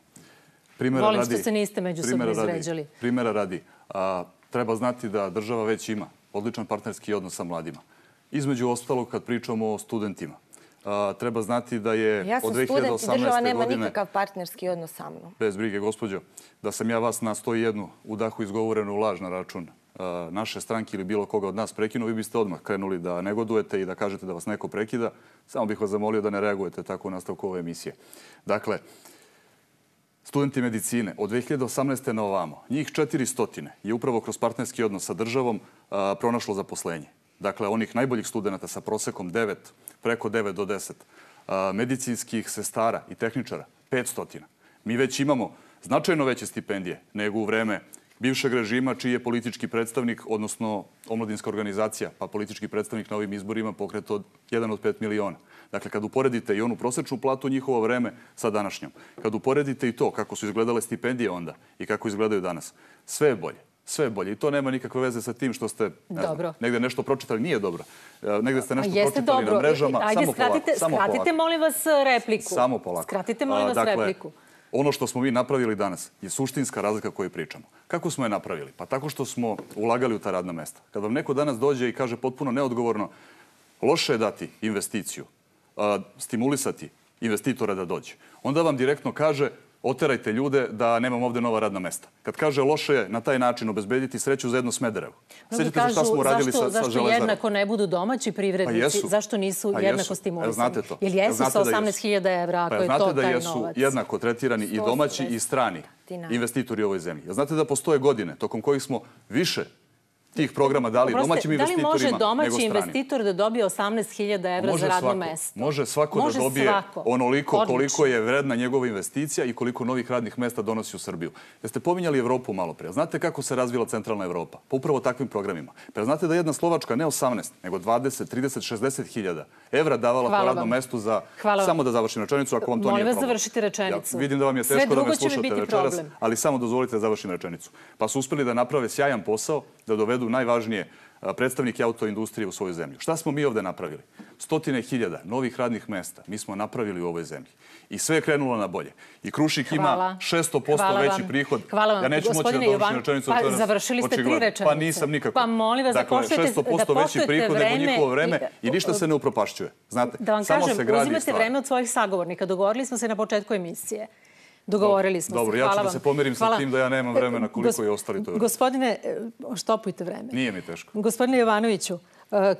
Primera Volim radi, što se niste međusobno izređali. Primera radi. A, treba znati da država već ima odličan partnerski odnos sa mladima. Između ostalog, kad pričamo o studentima, treba znati da je ja od dve hiljade osamnaeste godine... Ja sam student i država nema nikakav partnerski odnos sa mnom. Bez brige, gospođo, da sam ja vas na sto jedan u dahu izgovorenu laž na račun naše stranke ili bilo koga od nas prekinuo, vi biste odmah krenuli da negodujete i da kažete da vas neko prekida. Samo bih vas zamolio da ne reagujete tako u nastavku ove emisije. Dakle, studenti medicine od dve hiljade osamnaeste na ovamo, njih četiristo je upravo kroz partnerski odnos sa državom pronašlo zaposlenje. Dakle, onih najboljih studenta sa prosekom devet, preko devet do deset, medicinskih sestara i tehničara petsto. Mi već imamo značajno veće stipendije nego u vreme bivšeg režima čiji je politički predstavnik, odnosno omladinska organizacija, pa politički predstavnik na ovim izborima pokret od jedan od pet miliona. Dakle, kad uporedite i onu prosečnu platu u njihovo vreme sa današnjom, kad uporedite i to kako su izgledale stipendije onda i kako izgledaju danas, sve je bolje. Sve je bolje. I to nema nikakve veze sa tim što ste negde nešto pročitali. Nije dobro. Negde ste nešto pročitali na mrežama. Ajde, skratite, molim vas, repliku. Samo polako. Skratite, molim vas, repliku. Ono što smo mi napravili danas je suštinska razlika koju pričamo. Kako smo je napravili? Pa tako što smo ulagali u ta radna mesta. Kad vam neko danas dođe i kaže potpuno neodgovorno, loše je dati investiciju, stimulisati investitora da dođe, onda vam direktno kaže oterajte ljude da nemam ovde nova radna mesta. Kad kaže loše je na taj način obezbediti sreću za jedno Smederevo. Sjećate se šta smo uradili sa Železarom? Zašto jednako ne budu domaći privrednici? Zašto nisu jednako stimulisani? Jel jesu sa osamnaest hiljada evra ako je to taj novac? Znate da jesu jednako tretirani i domaći i strani investitori u ovoj zemlji. Znate da postoje godine tokom kojih smo više tih programa dali domaćim investitorima nego stranim. Da li može domaći investitor da dobije osamnaest hiljada evra za radno mesto? Može svako da dobije onoliko koliko je vredna njegova investicija i koliko novih radnih mesta donosi u Srbiju. Jeste pominjali Evropu malo pre. Znate kako se razvila centralna Evropa? Pa upravo takvim programima. Pa znate da jedna Slovačka ne osamnaest, nego dvadeset, trideset, šezdeset hiljada evra davala po radnom mestu za... Samo da završim rečenicu, ako vam to nije problem. Molim vas, završite rečenicu. Vidim da vam je teško da me slušate večeras, ali samo dozvolite da završim rečenicu. Pa su uspeli da naprave sjajan posao, da dovedu najvažnije predstavnike autoindustrije u svoju zemlju. Šta smo mi ovde napravili? Stotine hiljada novih radnih mesta mi smo napravili u ovoj zemlji. I sve je krenulo na bolje. I Krušik ima šesto posto veći prihod. Hvala vam. Ja neću moći da dovršim rečenicu. Pa završili ste tri rečenice. Pa nisam nikako. Pa molim vas da poštujete vreme. šesto posto veći prihod nego njihovo vreme i ništa se ne upropašćuje. Znate, da vam kažem, uzimate vreme od svojih sagovornika. Dogovorili smo se na početku emisije. Dogovorili smo se. Dobro, ja ću da se pomirim sa tim da ja nemam vremena koliko je ostali to. Gospodine, štopujte vreme. Nije mi teško. Gospodine Jovanoviću,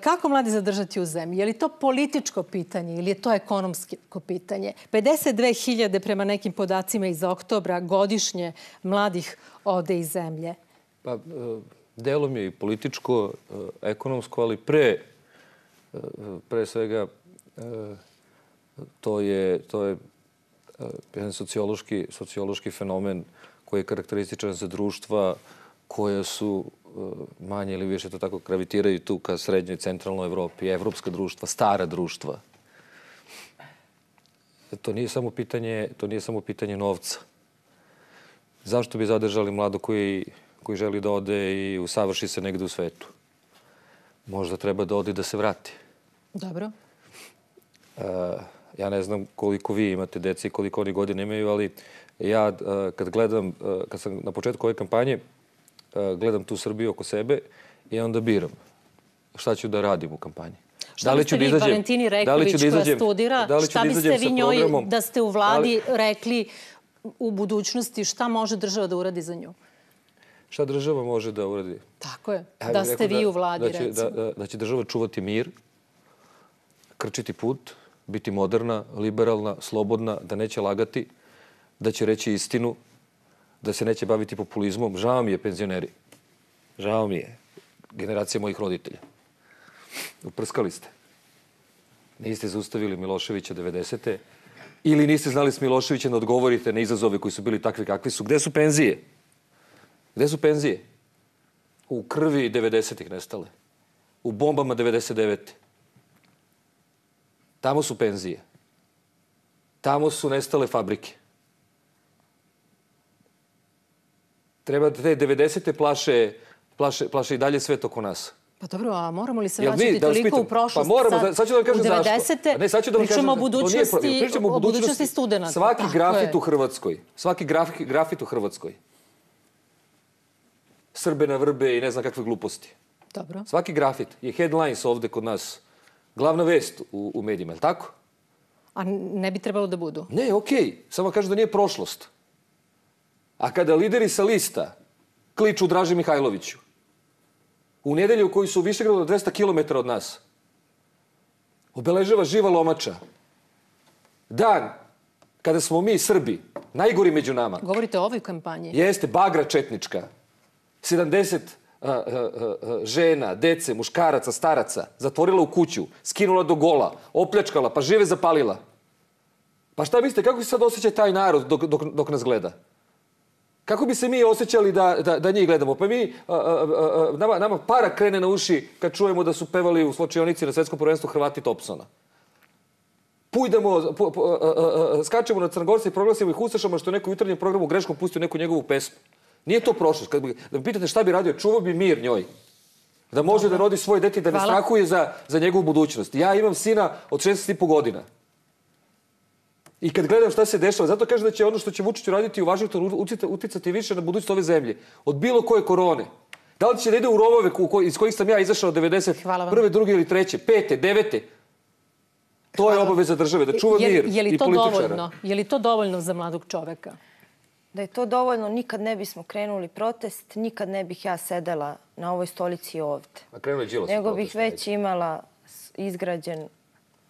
kako mladi zadržati u zemlji? Je li to političko pitanje ili je to ekonomsko pitanje? pedeset dve hiljade prema nekim podacima iz oktobra godišnje mladih ode iz zemlje. Pa, delom je i političko, ekonomsko, ali pre, pre svega to je, to je jedan sociološki, sociološki fenomen koji je karakterističan za društva koje su manje ili više to tako gravitiraju tu ka srednjoj i centralnoj Evropi, evropska društva, stara društva. To nije samo pitanje, to nije samo pitanje novca. Zašto bi zadržali mlado koji, koji želi da ode i usavrši se negde u svetu? Možda treba da ode i da se vrati. Dobro. Uh, Ja ne znam koliko vi imate dece i koliko oni godine imaju, ali ja kad gledam, kad sam na početku ove kampanje, gledam tu Srbiju oko sebe i onda biram šta ću da radim u kampanji. Šta biste vi Valentini Rejković koja studira, šta biste vi njoj da ste u vladi rekli u budućnosti šta može država da uradi za nju? Šta država može da uradi? Tako je, da ste vi u vladi recimo. Da će država čuvati mir, krčiti put, biti moderna, liberalna, slobodna, da neće lagati, da će reći istinu, da se neće baviti populizmom. Žao mi je penzioneri. Žao mi je. Generacija mojih roditelja. Uprskali ste. Niste zaustavili Miloševića devedesete ili niste znali s Miloševićem da odgovorite na izazove koji su bili takvi kakvi su. Gde su penzije? Gde su penzije? U krvi devedesetih nestale. U bombama devedeset devete Tamo su penzije. Tamo su nestale fabrike. Treba da te devedesete plaše, plaše, plaše i dalje svet oko nas. Pa dobro, a moramo li se vraćati toliko u prošlost? Pa moramo, sad ću da vam kažem zašto. U devedesete pričamo o budućnosti, o budućnosti studenta. Svaki grafit u Hrvatskoj, svaki grafit u Hrvatskoj, Srbe na vrbe i ne znam kakve gluposti. Dobro. Svaki grafit je headlines ovde kod nas. Glavna vest u, u medijima, je li tako? A ne bi trebalo da budu? Ne, okej. Samo kažu da nije prošlost. A kada lideri sa lista kliču Draži Mihajloviću, u nedelju koji su u Višegradu dvesta kilometara od nas, obeležava živa lomača. Dan kada smo mi, Srbi, najgori među nama. Govorite o ovoj kampanji? Jeste, bagra četnička. sedamdeset žena, dece, muškaraca, staraca zatvorila u kuću, skinula do gola, opljačkala, pa žive zapalila. Pa šta mislite, kako se sad osjeća taj narod dok, dok, dok nas gleda? Kako bi se mi osjećali da, da, da njih gledamo? Pa mi, a, a, a, nama, nama para krene na uši kad čujemo da su pevali u slačionici na svetskom prvenstvu Hrvati Thompsona. Pujdemo, po, po, a, a, a, skačemo na Crnogorce i proglasimo ih ustašama što je neko u jutarnjem programu greškom pustio neku njegovu pesmu. Nije to prošlost. Kad bi, da me pitate šta bi radio, čuvao bi mir njoj. Da može da rodi svoje dete i da ne strahuje za, za njegovu budućnost. Ja imam sina od šesnaest i po godina. I kad gledam šta se dešava, zato kažem da će ono što će Vučić raditi u Vašingtonu uticati više na budućnost ove zemlje. Od bilo koje korone. Da li će da ide u rovove iz kojih sam ja izašao devedeset prve, druge ili treće, pete, devete? To je obaveza države, da čuva mir i političara. Je li to dovoljno za mladog čoveka? Da je to dovoljno, nikad ne bismo krenuli protest, nikad ne bih ja sedela na ovoj stolici ovde. Nego bih već imala izgrađen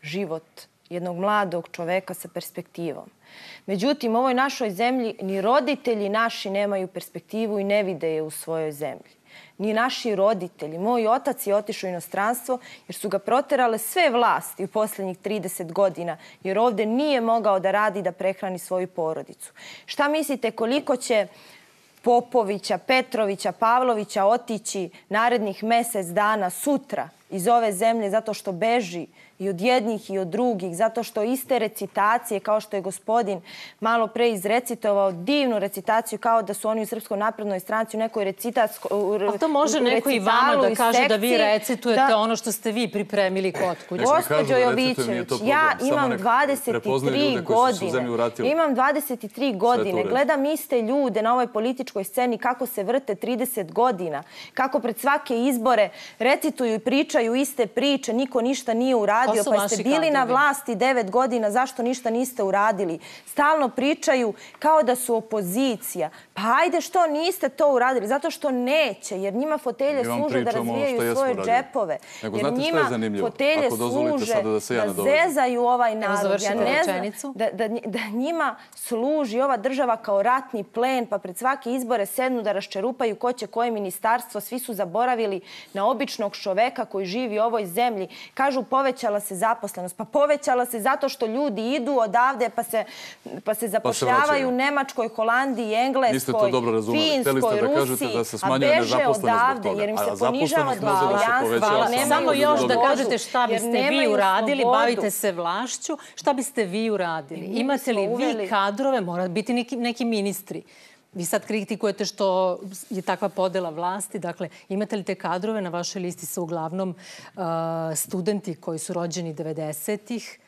život jednog mladog čoveka sa perspektivom. Međutim, u ovoj našoj zemlji ni roditelji naši nemaju perspektivu i ne vide je u svojoj zemlji. Ni naši roditelji. Moj otac je otišao u inostranstvo jer su ga proterale sve vlasti u posljednjih trideset godina jer ovde nije mogao da radi da prehrani svoju porodicu. Šta mislite koliko će Popovića, Petrovića, Pavlovića otići narednih mjesec dana sutra iz ove zemlje zato što beži i od jednih i od drugih, zato što iste recitacije, kao što je gospodin malo pre izrecitovao, divnu recitaciju kao da su oni u Srpskoj naprednoj stranci u nekoj recitacijskoj... A to može neko i vama da kaže da vi recitujete ono što ste vi pripremili kod kuće. Gospođo Jovićević, ja imam dvadeset tri godine. Imam dvadeset tri godine. Gledam iste ljude na ovoj političkoj sceni kako se vrte trideset godina, kako pred svake izbore recituju i pričaju iste priče, niko ništa nije uradio. Pa ste bili na vlasti devet godina, zašto ništa niste uradili? Stalno pričaju kao da su opozicija. Pa ajde što niste to uradili? Zato što neće, jer njima fotelje služe da razvijaju svoje džepove. Jer njima fotelje služe da zezaju ovaj narod. Ja ne znam da njima služi ova država kao ratni plen, pa pred svake izbore sednu da raščerupaju ko će koje ministarstvo. Svi su zaboravili na običnog čoveka koji živi u ovoj zemlji. Kažu povećala se zaposlenost. Pa povećala se zato što ljudi idu odavde pa se, pa se zapošljavaju u Nemačkoj, Holandiji, Engleskoj, Finskoj, Rusiji, a beže odavde jer im se ponižava dostojanstvo. Samo još da kažete šta biste vi uradili, bavite se vlašću, šta biste vi uradili? Imate li vi kadrove, mora biti neki, neki ministri? Vi sad kritikujete što je takva podela vlasti. Dakle, imate li te kadrove na vašoj listi su uglavnom uh, studenti koji su rođeni devedesetih,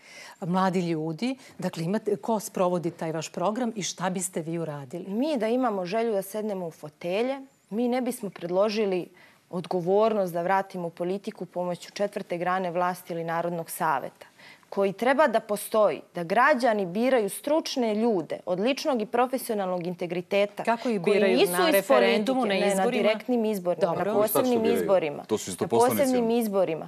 mladi ljudi. Dakle, imate, ko sprovodi taj vaš program i šta biste vi uradili? Mi da imamo želju da sednemo u fotelje, mi ne bismo predložili odgovornost da vratimo u politiku pomoću četvrte grane vlasti ili Narodnog saveta, koji treba da postoji, da građani biraju stručne ljude od ličnog i profesionalnog integriteta. Kako ih biraju? Na referendumu, na izborima? Ne, na direktnim izborima, na posebnim izborima. To su isto na poslanici. posebnim izborima.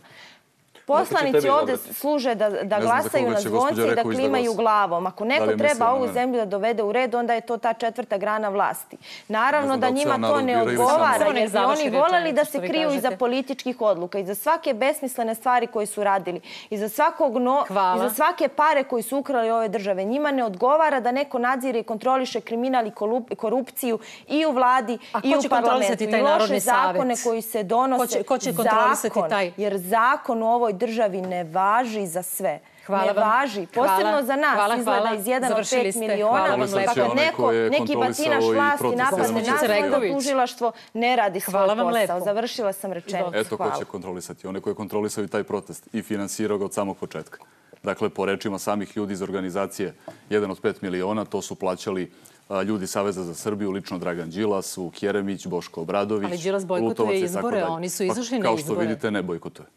Poslanici ovde služe da, da glasaju na zvonce i da klimaju glavom. Ako neko treba ovu zemlju da dovede u red, onda je to ta četvrta grana vlasti. Naravno da njima to ne odgovara, jer bi oni voleli da se kriju iza političkih odluka, iza svake besmislene stvari koje su radili, iza, svakog no, iza svake pare koji su ukrali ove države. Njima ne odgovara da neko nadzire i kontroliše kriminal i korupciju i u vladi i u parlamentu. I loše zakone koji se donose. Ko će kontrolisati taj? Jer zakon u ovoj državi ne važi za sve. Ne važi. Posebno za nas izgleda iz jedan od pet miliona. Pa kad neko, neki batinaš vlasti napadne nas, onda tužilaštvo ne radi svoj posao. Završila sam rečenicu. Eto ko će kontrolisati. One koji kontrolisaju taj protest i finansirao ga od samog početka. Dakle, po rečima samih ljudi iz organizacije jedan od pet miliona, to su plaćali ljudi Saveza za Srbiju, lično Dragan Đilas, Vuk Jeremić, Boško Obradović, Ali Đilas bojkotuje izbore, oni su izašli na izbore. Kao što vidite, ne bojkotuje.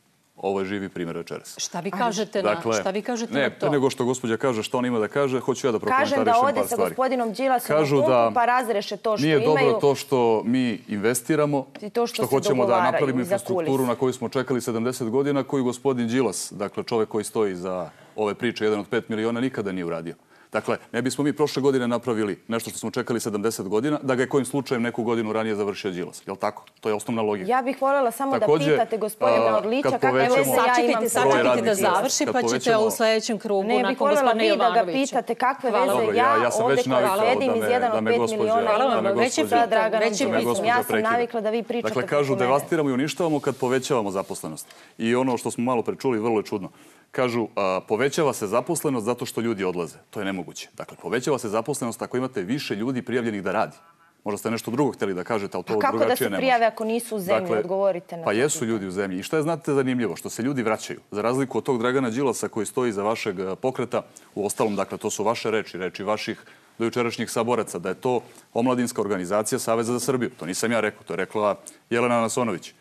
Ovo je živi primjer večeras. Šta vi kažete na, Dakle, šta vi kažete ne, na to? pre nego što gospođa kaže šta on ima da kaže, hoću ja da prokomentarišem par Kažem stvari. da ode sa gospodinom Đilasom Kažu na da pumpu pa razreše to što nije imaju. dobro to što mi investiramo, I to što što se hoćemo da dogovaraju napravimo iza infrastrukturu kulisa. na koju smo čekali sedamdeset godina, koju gospodin Đilas, dakle čovek koji stoji za ove priče, jedan od pet miliona, nikada nije uradio. Dakle, ne bismo mi prošle godine napravili nešto što smo čekali sedamdeset godina, da ga je kojim slučajem neku godinu ranije završio Đilas. Je li tako? To je osnovna logika. Ja bih voljela samo Takođe, da pitate gospodina a, Orlića kad kakve povećamo veze ja imam Sačekajte, sa sačekajte da radnih mesta. završi, Kad pa ćete povećamo- u sledećem krugu Ne bih nakon voljela gospodina vi da ga Jovanovića. pitate kakve Hvala. veze Dobro, ja, ja- ja sam ovde već koja navikao sedim da iz me- jedan da od me pet gospođa- miliona Hvala vam, imam već je sa pitan, Draganom već je Đilazom. pitan. Ja sam prekida. navikla da vi pričate Dakle, kažu preko mene. devastiramo i uništavamo kad povećavamo zaposlenost. I ono što smo malo pre čuli, vrlo je čudno. Kažu, a, povećava se zaposlenost zato što ljudi odlaze. To je nemoguće. Dakle, povećava se zaposlenost ako imate više ljudi prijavljenih da radi. Možda ste nešto drugo htjeli da kažete, ali to A kako da drugačije se ne može. prijave ako nisu u zemlji? Dakle, Odgovorite na Pa to jesu pitanje. ljudi u zemlji. I šta je, znate, zanimljivo? Što se ljudi vraćaju. Za razliku od tog Dragana Đilasa koji stoji iza vašeg eh, pokreta, u ostalom, dakle, to su vaše reči, reči vaših dojučerašnjih saboraca, da je to omladinska organizacija Saveza za Srbiju. To nisam ja rekao, to je rekla Jelena Nasonović.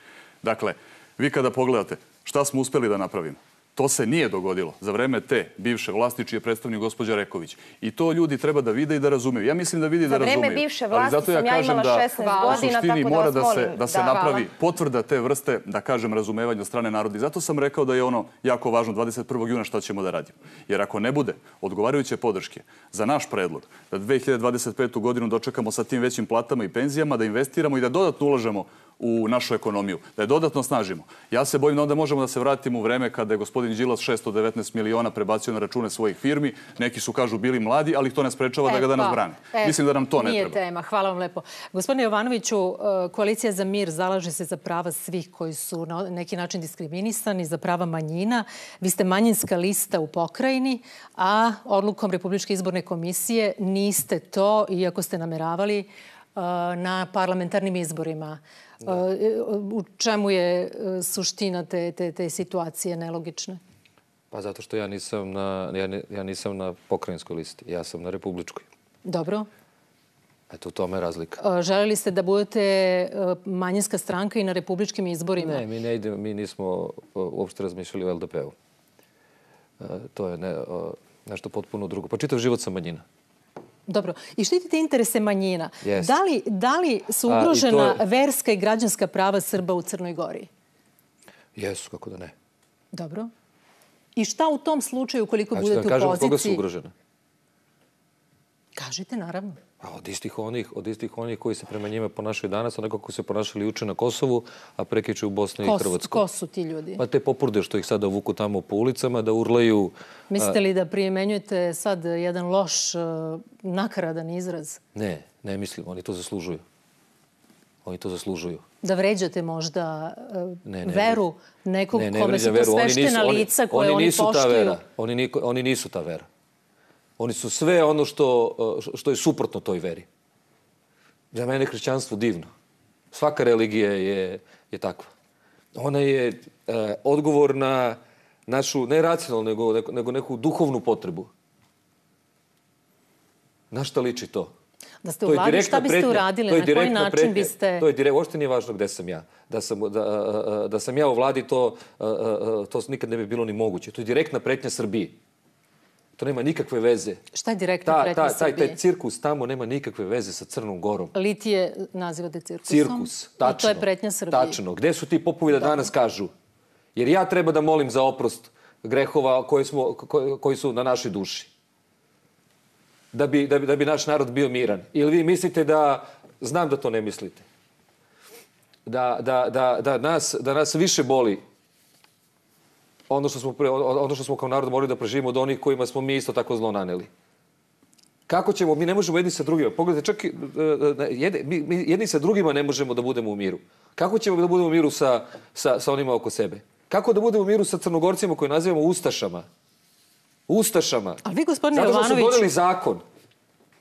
Dakle, vi kada pogledate šta smo uspeli da napravimo, to se nije dogodilo za vreme te bivše vlasti čiji je predstavnik gospođa Reković. I to ljudi treba da vide i da razumeju. Ja mislim da vidi i da Za vreme razumeju. bivše Ali vlasti zato sam ja kažem imala da šesnaest u godina, suštini tako da mora vas da se, molim. da se Da. napravi potvrda te vrste, da kažem, razumevanja od strane naroda. I zato sam rekao da je ono jako važno dvadeset prvog juna šta ćemo da radimo. Jer ako ne bude odgovarajuće podrške za naš predlog da dve hiljade dvadeset petu godinu dočekamo sa tim većim platama i penzijama, da investiramo i da dodatno ulažemo u našu ekonomiju, da je dodatno snažimo. Ja se bojim da onda možemo da se vratimo u vreme kada je gospodin Đilas šesto devetnaest miliona prebacio na račune svojih firmi. Neki su, kažu, bili mladi, ali ih to ne sprečava da ga danas brane. Mislim da nam to ne Nije treba. tema. Hvala vam lepo. Gospodine Jovanoviću, Koalicija za mir zalaže se za prava svih koji su na neki način diskriminisani, za prava manjina. Vi ste manjinska lista u pokrajini, a odlukom Republičke izborne komisije niste to, iako ste nameravali na parlamentarnim izborima. U čemu je suština te, te, te situacije nelogične? Pa zato što ja nisam na, ja, ne, ja nisam na pokrajinskoj listi, ja sam na republičkoj. Dobro. Eto, u tome je razlika. Želeli ste da budete manjinska stranka i na republičkim izborima? Ne, mi ne idemo, mi nismo uopšte razmišljali o L D P-u. To je ne, nešto potpuno drugo. Pa čitav život sam manjina. Dobro. I štitite interese manjina. Yes. Da li, da li su A, ugrožena je... verska i građanska prava Srba u Crnoj Gori? Jesu, kako da ne. Dobro. I šta u tom slučaju, koliko znači, budete da kažem, u poziciji? Koga su ugrožene? Kažite, naravno. A od istih onih, od istih onih koji se prema njima ponašaju danas, a neko koji se ponašali juče na Kosovu, a prekiče u Bosni Ko, i Hrvatskoj. Ko su ti ljudi? Pa te popurde što ih sada vuku tamo po ulicama, da urlaju... Mislite li da primenjujete sad jedan loš, uh, nakaradan izraz? Ne, ne mislim. Oni to zaslužuju. Oni to zaslužuju. Da vređate možda uh, ne, ne, veru nekog ne, ne kome su to sveštena lica koje oni, oni nisu poštuju? Ta vera. Oni, niko, oni nisu ta vera. Oni su sve ono što, što je suprotno toj veri. Za mene je hrišćanstvo divno. Svaka religija je, je takva. Ona je e, odgovor na našu, ne racionalnu, nego, nego neku duhovnu potrebu. Na šta liči to? Da ste u vladi, šta biste pretnja, uradili? Na koji način pretnja, biste... To je direkt, uopšte nije važno gde sam ja. Da sam, da, da sam ja u vladi, to, to nikad ne bi bilo ni moguće. To je direktna pretnja Srbiji. To nema nikakve veze. Šta je direktna pretnja ta, Srbije? Taj, taj cirkus tamo nema nikakve veze sa Crnom Gorom. Litije nazivate cirkusom? Cirkus, tačno. I to je pretnja Srbije. Tačno. Gde su ti popovi da danas kažu? Jer ja treba da molim za oprost grehova koji, smo, koji, koji su na našoj duši. Da bi, da, bi, da bi naš narod bio miran. Ili vi mislite da, znam da to ne mislite, da, da, da, da, nas, da nas više boli ono što smo, ono što smo kao narod morali da preživimo od onih kojima smo mi isto tako zlo naneli. Kako ćemo? Mi ne možemo jedni sa drugima. Pogledajte, čak jedni, mi jedni sa drugima ne možemo da budemo u miru. Kako ćemo da budemo u miru sa, sa, sa onima oko sebe? Kako da budemo u miru sa Crnogorcima koje nazivamo Ustašama? Ustašama. A vi, gospodine Zato što Jovanović... su doneli zakon.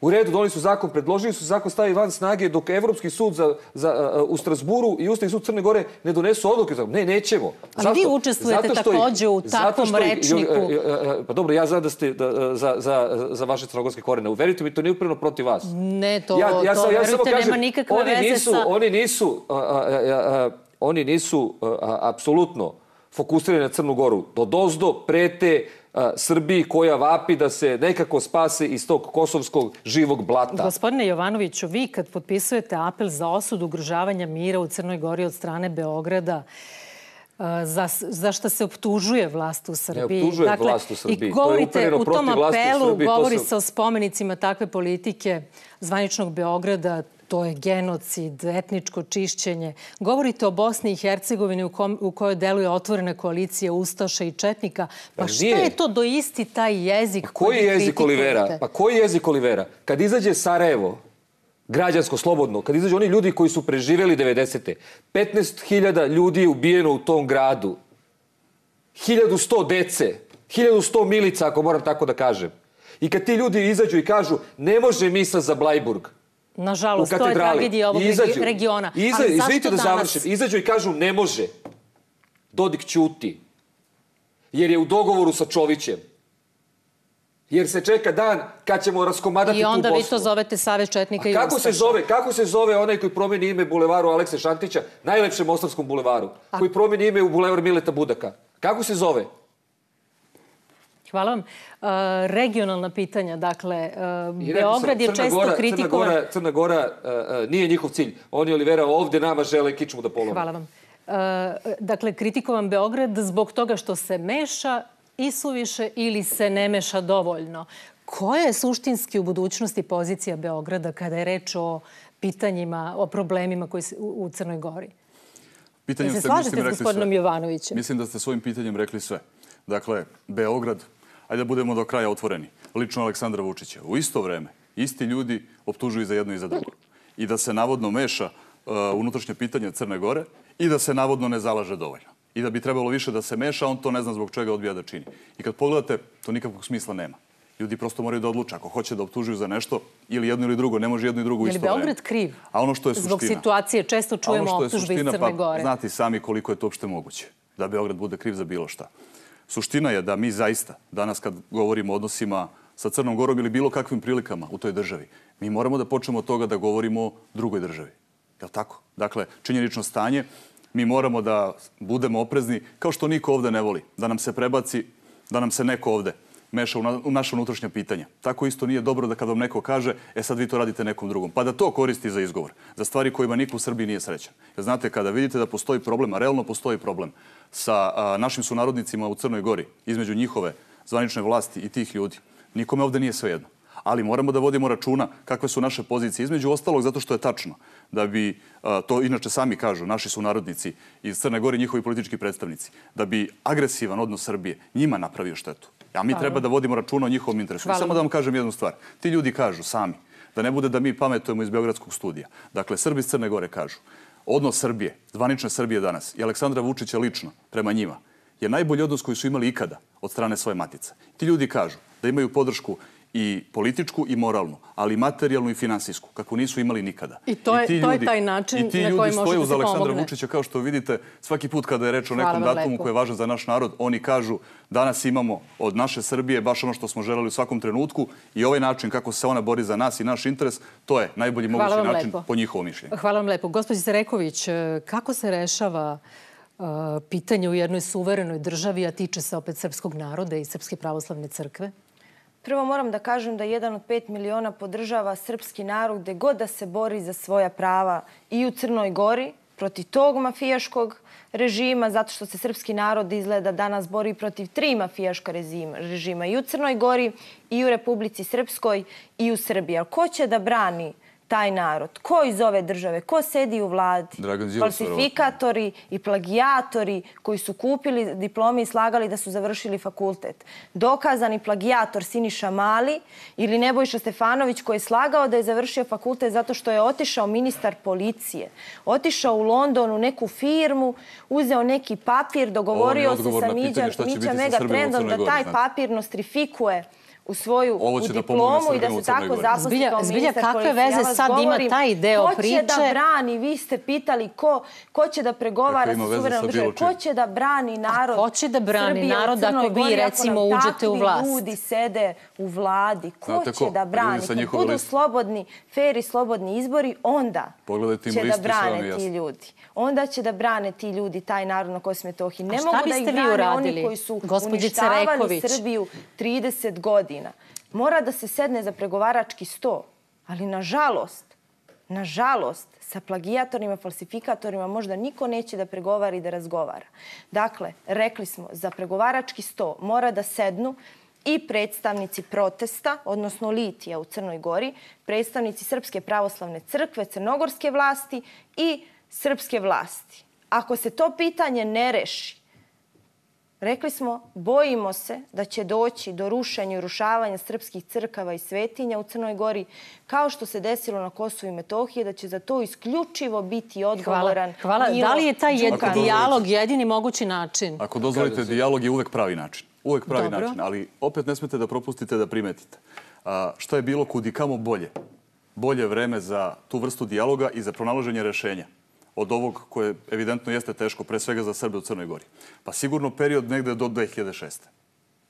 U redu, doneli su zakon, predložili su zakon stavi van snage dok Evropski sud za, za, uh, u Strasburu i Ustavni sud Crne Gore ne donesu odluke. Ne, nećemo. Ali zašto? Vi učestvujete takođe u takvom rečniku. Uh, uh, pa dobro, ja znam da ste da, za, za, za vaše crnogorske korene. Uverite mi, to nije upravo protiv vas. Ne, to, ja, ja, to ja, ja verujte, kažem, nema nikakve oni veze nisu, sa... Oni nisu, uh, uh, uh, uh, oni nisu uh, apsolutno fokusirani na Crnu Goru. Dodozdo prete Srbiji koja vapi da se nekako spase iz tog kosovskog živog blata. Gospodine Jovanoviću, vi kad potpisujete apel za osudu ugrožavanja mira u Crnoj Gori od strane Beograda, za, za što se optužuje vlast u Srbiji. Ne optužuje dakle, vlast u Srbiji. I govorite, to je u tom apelu Srbiji, govori sam... se o spomenicima takve politike zvaničnog Beograda, to je genocid, etničko čišćenje. Govorite o Bosni i Hercegovini u, kom, u kojoj deluje otvorena koalicija Ustaša i Četnika. Pa, pa šta je to do isti taj jezik pa koji je jezik Olivera? Pa koji je jezik Olivera? Kad izađe Sarajevo, građansko, slobodno, kad izađu oni ljudi koji su preživjeli devedesete. petnaest hiljada ljudi je ubijeno u tom gradu. hiljadu sto dece. hiljadu sto milica, ako moram tako da kažem. I kad ti ljudi izađu i kažu ne može misa za Blajburg. Nažalost, to je tragedija ovog izađu, regiona. Iza, Ali zašto izvinite da danas... završim. Izađu i kažu ne može. Dodik ćuti. Jer je u dogovoru sa Čovićem. Jer se čeka dan kad ćemo raskomadati tu Bosnu. I onda vi to zovete Savez Četnika i kako Ustaša. se zove, kako se zove onaj koji promijeni ime bulevaru Alekse Šantića, najlepšem ostarskom bulevaru, A... koji promijeni ime u bulevar Mileta Budaka? Kako se zove? Hvala vam. Uh, regionalna pitanja, dakle, uh, Beograd je često Gora, kritikovan... Crna Gora, Crna Gora uh, nije njihov cilj. Oni, Olivera, ovdje nama žele kičmu da polome. Hvala vam. Uh, dakle, kritikovan Beograd zbog toga što se meša isuviše ili se ne meša dovoljno. Koja je suštinski u budućnosti pozicija Beograda kada je reč o pitanjima, o problemima koji se u, u Crnoj Gori? Pitanjem se ste, slažete mislim, s gospodinom Jovanovićem? Mislim da ste svojim pitanjem rekli sve. Dakle, Beograd, ajde da budemo do kraja otvoreni, lično Aleksandra Vučića. U isto vreme, isti ljudi optužuju za jedno i za drugo. I da se navodno meša uh, unutrašnje pitanje Crne Gore i da se navodno ne zalaže dovoljno. I da bi trebalo više da se meša, on to ne zna zbog čega odbija da čini. I kad pogledate, to nikakvog smisla nema. Ljudi prosto moraju da odluče ako hoće da optužuju za nešto ili jedno ili drugo, ne može jedno i drugo u isto vreme. Je li Beograd kriv? A ono što je suština, zbog situacije često čujemo optužbe iz Crne Gore. Pa znate sami koliko je to uopšte moguće da Beograd bude kriv za bilo šta. Suština je da mi zaista, danas kad govorimo o odnosima sa Crnom Gorom ili bilo kakvim prilikama u toj državi, mi moramo da počnemo od toga da govorimo o drugoj državi. Je li tako? Dakle, činjenično stanje, mi moramo da budemo oprezni, kao što niko ovde ne voli, da nam se prebaci, da nam se neko ovde meša u, na, u naše unutrašnje pitanja. Tako isto nije dobro da kad vam neko kaže, e sad vi to radite nekom drugom, pa da to koristi za izgovor, za stvari kojima niko u Srbiji nije srećan. Jer znate, kada vidite da postoji problem, a realno postoji problem sa a, našim sunarodnicima u Crnoj Gori, između njihove zvanične vlasti i tih ljudi, nikome ovde nije svejedno. Ali moramo da vodimo računa kakve su naše pozicije. Između ostalog, zato što je tačno da bi, to inače sami kažu naši sunarodnici iz Crne Gore, njihovi politički predstavnici, da bi agresivan odnos Srbije njima napravio štetu. A mi treba da vodimo računa o njihovom interesu. I samo da vam kažem jednu stvar. Ti ljudi kažu sami, da ne bude da mi pametujemo iz Beogradskog studija. Dakle, Srbi iz Crne Gore kažu, odnos Srbije, zvanične Srbije danas i Aleksandra Vučića lično prema njima je najbolji odnos koji su imali ikada od strane svoje matice. Ti ljudi kažu da imaju podršku i političku i moralnu, ali i materijalnu i finansijsku, kako nisu imali nikada. I to je, I to je taj način na koji može da se pomogne. I ti ljudi stoje uz Aleksandra Vučića, kao što vidite, svaki put kada je reč o nekom datumu koji je važan za naš narod, oni kažu danas imamo od naše Srbije baš ono što smo želeli u svakom trenutku i ovaj način kako se ona bori za nas i naš interes, to je najbolji mogući način lepo. Po njihovom mišljenju. Hvala vam lepo. Gospođo Sereković, kako se rešava uh, pitanje u jednoj suverenoj državi, a tiče se opet srpskog naroda i Srpske pravoslavne crkve? Prvo moram da kažem da jedan od pet miliona podržava srpski narod gde god da se bori za svoja prava i u Crnoj Gori protiv tog mafijaškog režima, zato što se srpski narod izgleda danas bori protiv tri mafijaška režima, režima i u Crnoj Gori, i u Republici Srpskoj, i u Srbiji. Ali ko će da brani taj narod? Ko iz ove države? Ko sedi u vladi? Falsifikatori i plagijatori koji su kupili diplome i slagali da su završili fakultet. Dokazani plagijator Siniša Mali ili Nebojša Stefanović koji je slagao da je završio fakultet zato što je otišao ministar policije. Otišao u London u neku firmu, uzeo neki papir, dogovorio se sa Miđa Megatrendom da taj papir nostrifikuje u svoju Ovo u će da pomogne diplomu i da Srbima u se Crnoj tako Gori. zaposli Zbilja- kao zbilja ministar kakve policije. Ja veze vas sad ima govorim, taj deo ko će priče? da brani, vi ste pitali ko, ko će da pregovara Kakve ima sa veze suverenom sa državom, bilo čim? ko će da brani narod ko će da brani Srbije u narod Crnoj ako vi, Gori, recimo, nam uđete u takvi vlast? ljudi sede u vladi, ko Znate će ko? da Ljudi brani? sa Kad njihove budu liste. slobodni, fer i slobodni izbori, onda Pogledajte im će da listu, sve vam je brane jasno. ti ljudi. Onda će da brane ti ljudi taj narod na Kosovu i Metohiji. Ne A šta mogu da biste ih vi brane uradili, oni koji su gospođice uništavali Reković? Srbiju trideset godina. Mora da se sedne za pregovarački sto. Ali nažalost, nažalost, sa plagijatorima, falsifikatorima možda niko neće da pregovara i da razgovara. Dakle, rekli smo, za pregovarački sto mora da sednu i predstavnici protesta, odnosno litija u Crnoj Gori, predstavnici Srpske pravoslavne crkve, crnogorske vlasti i srpske vlasti. Ako se to pitanje ne reši, rekli smo, bojimo se da će doći do rušenja i urušavanja srpskih crkava i svetinja u Crnoj Gori, kao što se desilo na Kosovu i Metohiji, da će za to isključivo biti odgovoran Hvala. Milo Da li je taj jed- Đukanović. dijalog jedini mogući način? Ako dozvolite, dijalog je uvek pravi način. Uvek pravi Dobro. način, ali opet ne smete da propustite da primetite. A, šta je bilo kudikamo bolje? Bolje vreme za tu vrstu dijaloga i za pronalaženje rešenja od ovog koje evidentno jeste teško, pre svega za Srbe u Crnoj Gori. Pa sigurno period negde do dve hiljade šeste.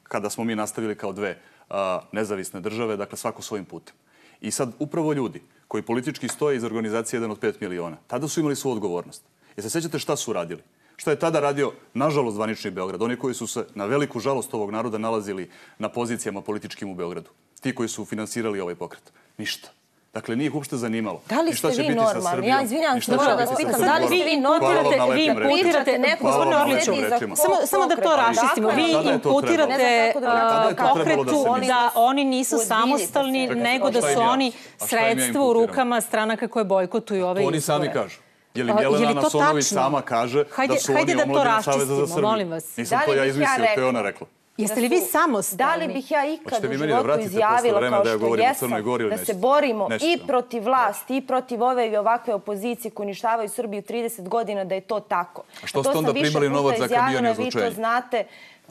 Kada smo mi nastavili kao dve a, nezavisne države, dakle svako svojim putem. I sad upravo ljudi koji politički stoje iz organizacije jedan od pet miliona, tada su imali svoju odgovornost. Jer se sjećate šta su radili? Šta je tada radio, nažalost, zvanični Beograd? Oni koji su se, na veliku žalost ovog naroda, nalazili na pozicijama političkim u Beogradu. Ti koji su finansirali ovaj pokret. Ništa. Dakle, nije ih uopšte zanimalo. Da li I šta ste će vi biti sa normalni? Srbijom? Ja izvinjam I se, šta će moram biti vas sa pitam, Crnom da li Gorom? ste vi Hvala vam normalni? na lepim Vi rečima. imputirate neko Hvala vam na gospodine lepim Orliću, rečima. samo, samo da to Pokreta. raščistimo. Dakle, Vi tada je to imputirate trebalo. a, Tada je to trebalo da pokretu se misli. da oni nisu Uozbiljite samostalni, se. nego A da šta su im ja? oni A šta im ja sredstvo u imputiram? rukama stranaka koje bojkotuju ove To oni izbore. sami kažu. Je li A, je li Jelena to Nasonović tačno? sama kaže Hajde- da su hajde oni da to omladina Saveza za raščistimo, Srbiju? molim vas. Nisam Da to li ja bih ja izmislio, to je rekla? ona rekla. Jeste li vi Da samostalni? li bih ja ikad Hoćete u vi meni da životu vratite posle izjavila vreme kao da ja što govorim o jesam, Crnoj Gori ili da se nećete? borimo Nećete. i protiv vlasti i protiv ove i ovakve opozicije koji uništavaju Srbiju trideset godina da je to tako. A što To ste sam onda više primali puta novac za izjavila, kabijanje vi to izlučenja? znate.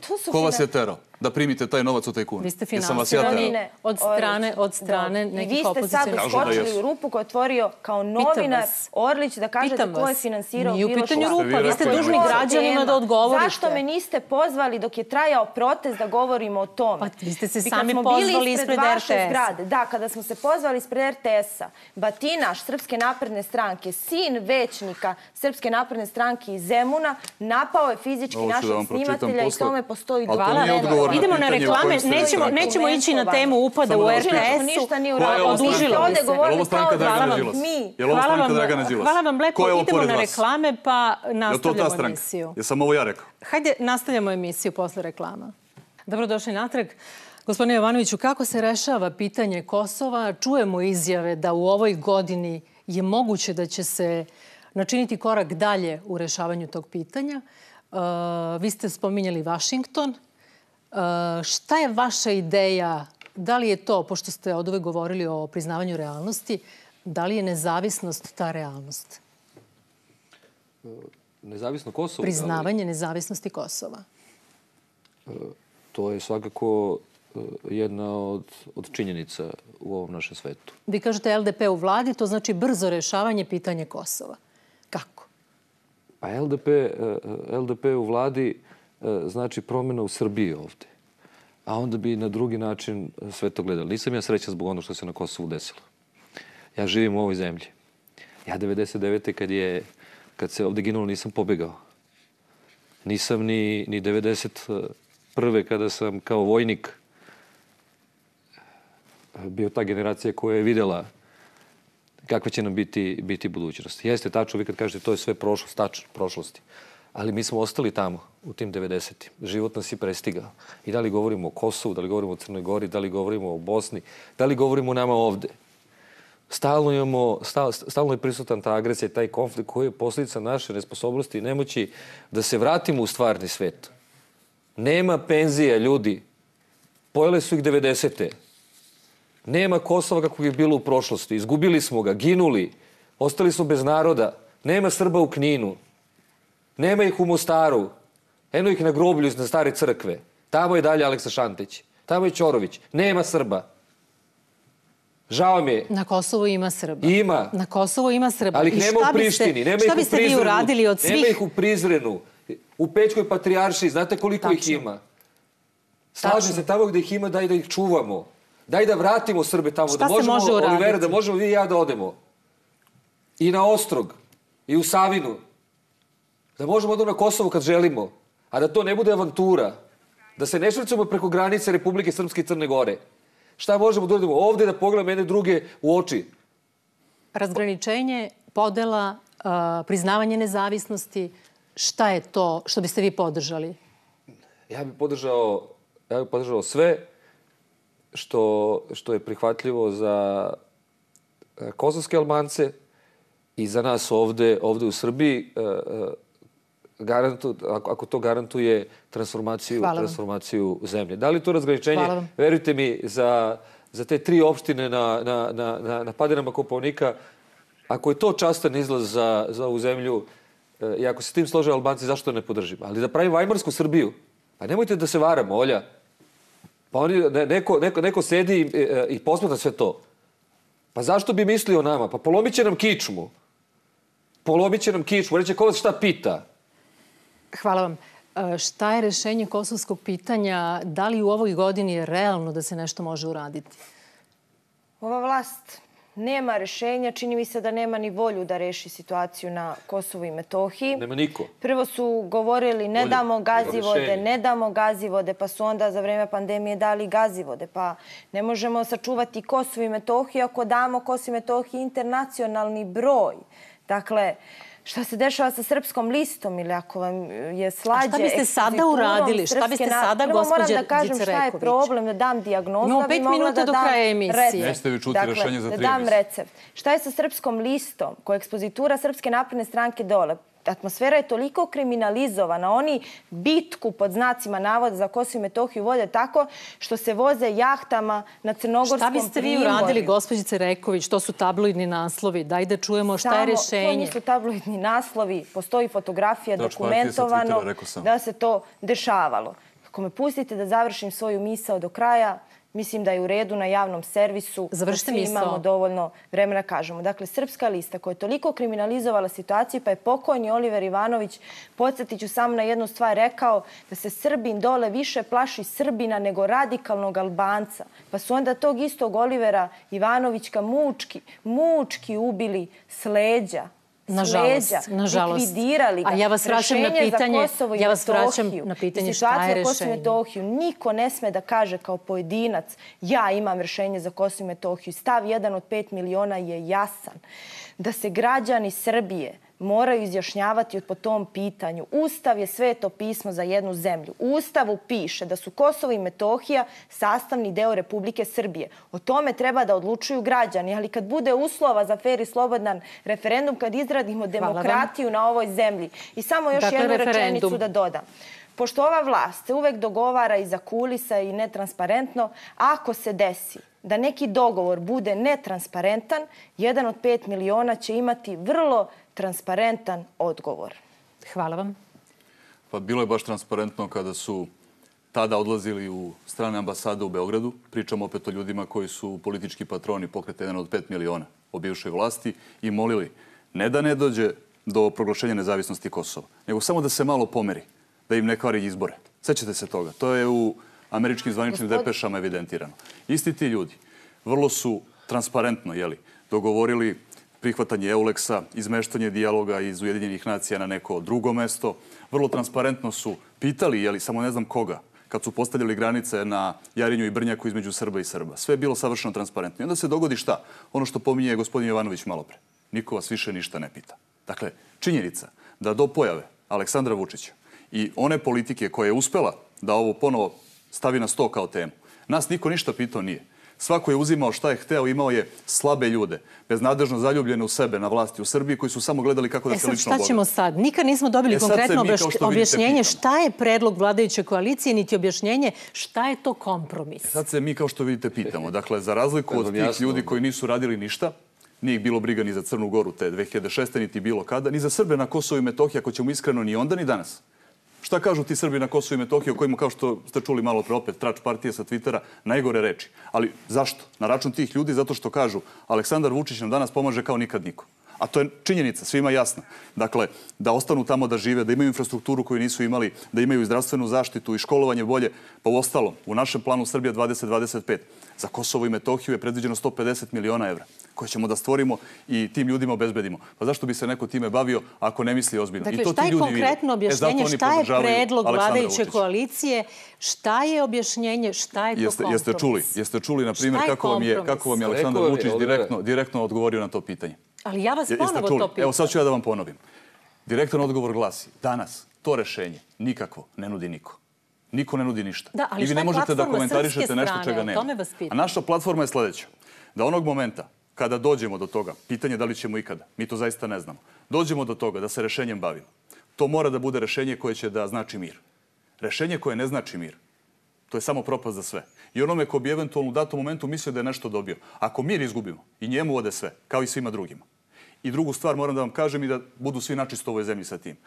To su Ko vas finan- je terao da primite taj novac od tajkuna? Vi ste Jesam vas ja finansirani terao? od strane, od strane Da. I nekih vi ste sad opozicionih. Kažu da uskočili jesu. u rupu koju je otvorio kao novinar vas. Orlić da kažete Pitam ko je vas. finansirao Nije u bilo pitanju šta. rupa, vi ste rekli, dužni nemojte. građanima da odgovorite. Zašto me niste pozvali dok je trajao protest da govorimo o tome? Pa vi ste se I kad sami smo bili pozvali ispred vaše R T S-a. zgrade, da, kada smo se pozvali ispred R T S-a, Batinaš Srpske napredne stranke, sin većnika Srpske napredne stranke iz Zemuna, napao je fizički Ovo ću da našeg vam pročitam snimatelja i posle. tome postoji Ali to dovoljno nije odgovor na Idemo na pitanje o reklame, kojem ste nećemo, rekli. nećemo ići na temu upada Samo u da vas R T pitam. S-u. Ništa nije Koja je ovo uradio. stranka? Ovde Je li govorili ovo stranka kao da Dragana smo Đilasa? mi. Je li ovo Hvala stranka vam, Dragana Đilasa? hvala vam lepo. Ko je ovo Idemo pored na vas? reklame pa Je li to ta nastavljamo stranka? emisiju. Jesam ovo ja rekao? Hajde, nastavljamo emisiju posle reklama. Dobrodošli natrag. Gospodine Jovanoviću, kako se rešava pitanje Kosova? Čujemo izjave da u ovoj godini je moguće da će se načiniti korak dalje u rešavanju tog pitanja. Uh, vi ste spominjali Vašington. Uh, šta je vaša ideja? Da li je to, pošto ste od uvek govorili o priznavanju realnosti, da li je nezavisnost ta realnost? Nezavisno Kosovo? Priznavanje nezavisnosti Kosova. To je svakako jedna od, od činjenica u ovom našem svetu. Vi kažete L D P u vladi, to znači brzo rešavanje pitanja Kosova. Kako? Pa L D P, L D P u vladi znači promjena u Srbiji ovde. A onda bi na drugi način sve to gledali. Nisam ja srećan zbog ono što se na Kosovu desilo. Ja živim u ovoj zemlji. Ja devedeset devete kad je kad se ovde ginulo nisam pobegao. Nisam ni, ni devedeset prve kada sam kao vojnik bio ta generacija koja je vidjela kakva će nam biti, biti budućnost. Jeste tačno, vi kad kažete to je sve prošlost, tačno, prošlosti. Ali mi smo ostali tamo u tim devedesetim. Život nas je prestigao. I da li govorimo o Kosovu, da li govorimo o Crnoj Gori, da li govorimo o Bosni, da li govorimo o nama ovde. Stalno, imamo, stal, stalno je prisutan ta agresija i taj konflikt koji je posljedica naše nesposobnosti i nemoći da se vratimo u stvarni svet. Nema penzija, ljudi. Pojele su ih devedesete. Nema Kosova kako je bilo u prošlosti. Izgubili smo ga, ginuli. Ostali smo bez naroda. Nema Srba u Kninu. Nema ih u Mostaru. Eno ih na groblju na stare crkve. Tamo je dalje Aleksa Šantić. Tamo je Ćorović. Nema Srba. Žao mi je. Na Kosovu ima Srba. Ima. Na Kosovu ima Srba. Ali ih nema u Prištini. Šta biste vi uradili od svih? Nema ih u Prizrenu. U Pećkoj patrijaršiji. Znate koliko ih ima? Slažem se, tamo gde ih ima, daj da ih čuvamo. Daj da vratimo Srbe tamo. Šta se može uraditi? Olivera, da možemo vi i ja da odemo. I na Ostrog. I u Savinu. Da možemo odemo na Kosovo kad želimo. A da to ne bude avantura. Da se ne švrcamo preko granice Republike Srpske i Crne Gore. Šta možemo da uradimo? Ovde da pogledamo jedne druge u oči. Razgraničenje, podela, priznavanje nezavisnosti. Šta je to što biste vi podržali? Ja bih podržao, ja bih podržao sve što, što je prihvatljivo za kosovske Albance i za nas ovde, ovde u Srbiji. Garantu, ako to garantuje transformaciju, transformaciju zemlje. Da li to razgraničenje, verujte mi, za, za te tri opštine na, na, na, na padinama Kopaonika, ako je to častan izlaz za, za ovu zemlju, i ako se tim slože Albanci, zašto ne podržimo? Ali da pravimo Vajmarsku Srbiju, pa nemojte da se varamo, Olja. Pa oni, neko, neko, neko sedi i, i posmatra sve to. Pa zašto bi mislio o nama? Pa polomit će nam kičmu. Polomit će nam kičmu. Reće, ko vas šta pita? Hvala vam. Šta je rešenje kosovskog pitanja? Da li u ovoj godini je realno da se nešto može uraditi? Ova vlast nema rešenja. Čini mi se da nema ni volju da reši situaciju na Kosovu i Metohiji. Nema niko. Prvo su govorili ne damo gazivode, ne damo gazivode, pa su onda za vreme pandemije dali gazivode. Pa ne možemo sačuvati Kosovo i Metohiju ako damo Kosovo i Metohiji internacionalni broj. Dakle, šta se dešava sa Srpskom listom ili ako vam je slađe... A šta biste sada uradili? Šta biste sada, gospođe Dzicereković? Prvo moram da kažem šta je problem, da dam dijagnozu. Imamo pet minuta do kraja emisije. Jeste vi čuti rešenje za tri da dam recept. Šta je sa Srpskom listom, koja je ekspozitura Srpske napredne stranke dole? Atmosfera je toliko kriminalizovana. Oni bitku pod znacima navoda za Kosovo i Metohiju vode tako što se voze jahtama na Crnogorskom primorju. Šta biste vi uradili, gospođice Reković? To su tabloidni naslovi. Daj da čujemo šta je rešenje. To nisu tabloidni naslovi. Postoji fotografija dokumentovano da se to dešavalo. Ako me pustite da završim svoju misao do kraja, mislim da je u redu na javnom servisu. Završite misao. Imamo dovoljno vremena kažemo. Dakle, Srpska lista koja je toliko kriminalizovala situaciju, pa je pokojni Oliver Ivanović, podsjetit ću samo na jednu stvar, rekao da se Srbin dole više plaši Srbina nego radikalnog Albanca. Pa su onda tog istog Olivera Ivanovićka mučki, mučki ubili s leđa. Nažalost, nažalost. Likvidirali ga. A ja vas vraćam na pitanje, ja vas vraćam na pitanje šta je rešenje. Metohiju. Niko ne sme da kaže kao pojedinac ja imam rešenje za Kosovo i Metohiju. Stav jedan od pet miliona je jasan. Da se građani Srbije moraju izjašnjavati po tom pitanju. Ustav je sveto pismo za jednu zemlju. U Ustavu piše da su Kosovo i Metohija sastavni deo Republike Srbije. O tome treba da odlučuju građani, ali kad bude uslova za fer i slobodan referendum, kad izradimo demokratiju na ovoj zemlji. I samo još jednu rečenicu da dodam. Pošto ova vlast se uvek dogovara iza kulisa i netransparentno, ako se desi da neki dogovor bude netransparentan, jedan od pet miliona će imati vrlo transparentan odgovor. Hvala vam. Pa bilo je baš transparentno kada su tada odlazili u strane ambasade u Beogradu. Pričamo opet o ljudima koji su politički patroni pokreta jedan od pet miliona o bivšoj vlasti i molili ne da ne dođe do proglašenja nezavisnosti Kosova, nego samo da se malo pomeri, da im ne kvari izbore. Sećate se toga. To je u američkim zvaničnim depešama evidentirano. Isti ti ljudi vrlo su transparentno jeli, dogovorili prihvatanje Euleksa, izmeštanje dijaloga iz Ujedinjenih nacija na neko drugo mesto. Vrlo transparentno su pitali, jeli, samo ne znam koga, kad su postavljali granice na Jarinju i Brnjaku između Srba i Srba. Sve je bilo savršeno transparentno. I onda se dogodi šta? Ono što pominje gospodin Jovanović malopre. Niko vas više ništa ne pita. Dakle, činjenica da do pojave Aleksandra Vučića i one politike koja je uspela da ovo ponovo stavi na sto kao temu, nas niko ništa pitao nije. Svako je uzimao šta je hteo, imao je slabe ljude, beznadežno zaljubljene u sebe na vlasti u Srbiji, koji su samo gledali kako da se lično bogate. Šta ćemo sad? Nikad nismo dobili konkretno objašnjenje šta je predlog vladajuće koalicije, niti objašnjenje šta je to kompromis. Sad se mi, kao što vidite, pitamo. Dakle, za razliku od tih ljudi koji nisu radili ništa, nije ih bilo briga ni za Crnu Goru te dve hiljade šeste. niti bilo kada, ni za Srbe na Kosovu i Metohiji, ako ćemo iskreno, ni onda, ni danas. Šta kažu ti Srbi na Kosovu i Metohiji o kojima, kao što ste čuli malo pre opet, trač partije sa Twittera, najgore reči. Ali zašto? Na račun tih ljudi zato što kažu Aleksandar Vučić nam danas pomaže kao nikad niko. A to je činjenica, svima jasna. Dakle, da ostanu tamo da žive, da imaju infrastrukturu koju nisu imali, da imaju i zdravstvenu zaštitu i školovanje bolje. Pa u ostalom, u našem planu Srbija dvadeset dvadeset pet za Kosovo i Metohiju je predviđeno sto pedeset miliona evra koje ćemo da stvorimo i tim ljudima obezbedimo. Pa zašto bi se neko time bavio ako ne misli ozbiljno? Dakle, šta je konkretno objašnjenje, šta je predlog vladajuće koalicije, šta je objašnjenje, šta je to kompromis? Jeste čuli, jeste čuli, na primjer, kako vam je Aleksandar Vučić direktno odgovorio na to pitanje? Ali ja vas ponovo to pitam. Evo sad ću ja da vam ponovim. Direktan odgovor glasi, danas to rešenje nikakvo ne nudi niko. Niko ne nudi ništa. Da, ali I vi ne možete da komentarišete nešto čega nema. A naša platforma je sledeća. Da onog momenta kada dođemo do toga, pitanje da li ćemo ikada, mi to zaista ne znamo, dođemo do toga da se rešenjem bavimo. To mora da bude rešenje koje će da znači mir. Rešenje koje ne znači mir, to je samo propast za sve. I onome ko bi eventualno u datom momentu mislio da je nešto dobio. Ako mir izgubimo, i njemu ode sve, kao i svima drugima. I drugu stvar moram da vam kažem i da budu svi načisto u ovoj zemlji sa tim.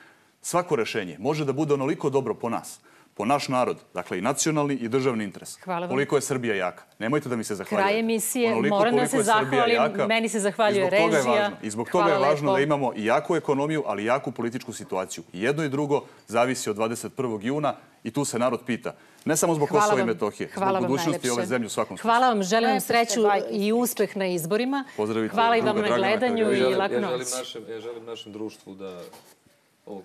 Svako rešenje može da bude onoliko dobro po nas, po naš narod, dakle i nacionalni i državni interes. Koliko je Srbija jaka. Nemojte da mi se zahvaljujete. Kraj emisije, moram da se zahvalim, meni se zahvaljuje režija. I zbog toga je važno da imamo i jaku ekonomiju, ali i jaku političku situaciju. Jedno i drugo zavisi od dvadeset prvog juna i tu se narod pita. Ne samo zbog Kosova i Metohije, zbog budućnosti ove zemlje u svakom slučaju. Hvala vam, želim vam sreću i uspeh na izborima. Hvala i vam na gledanju i lako noć. Ja želim našem društvu da ovo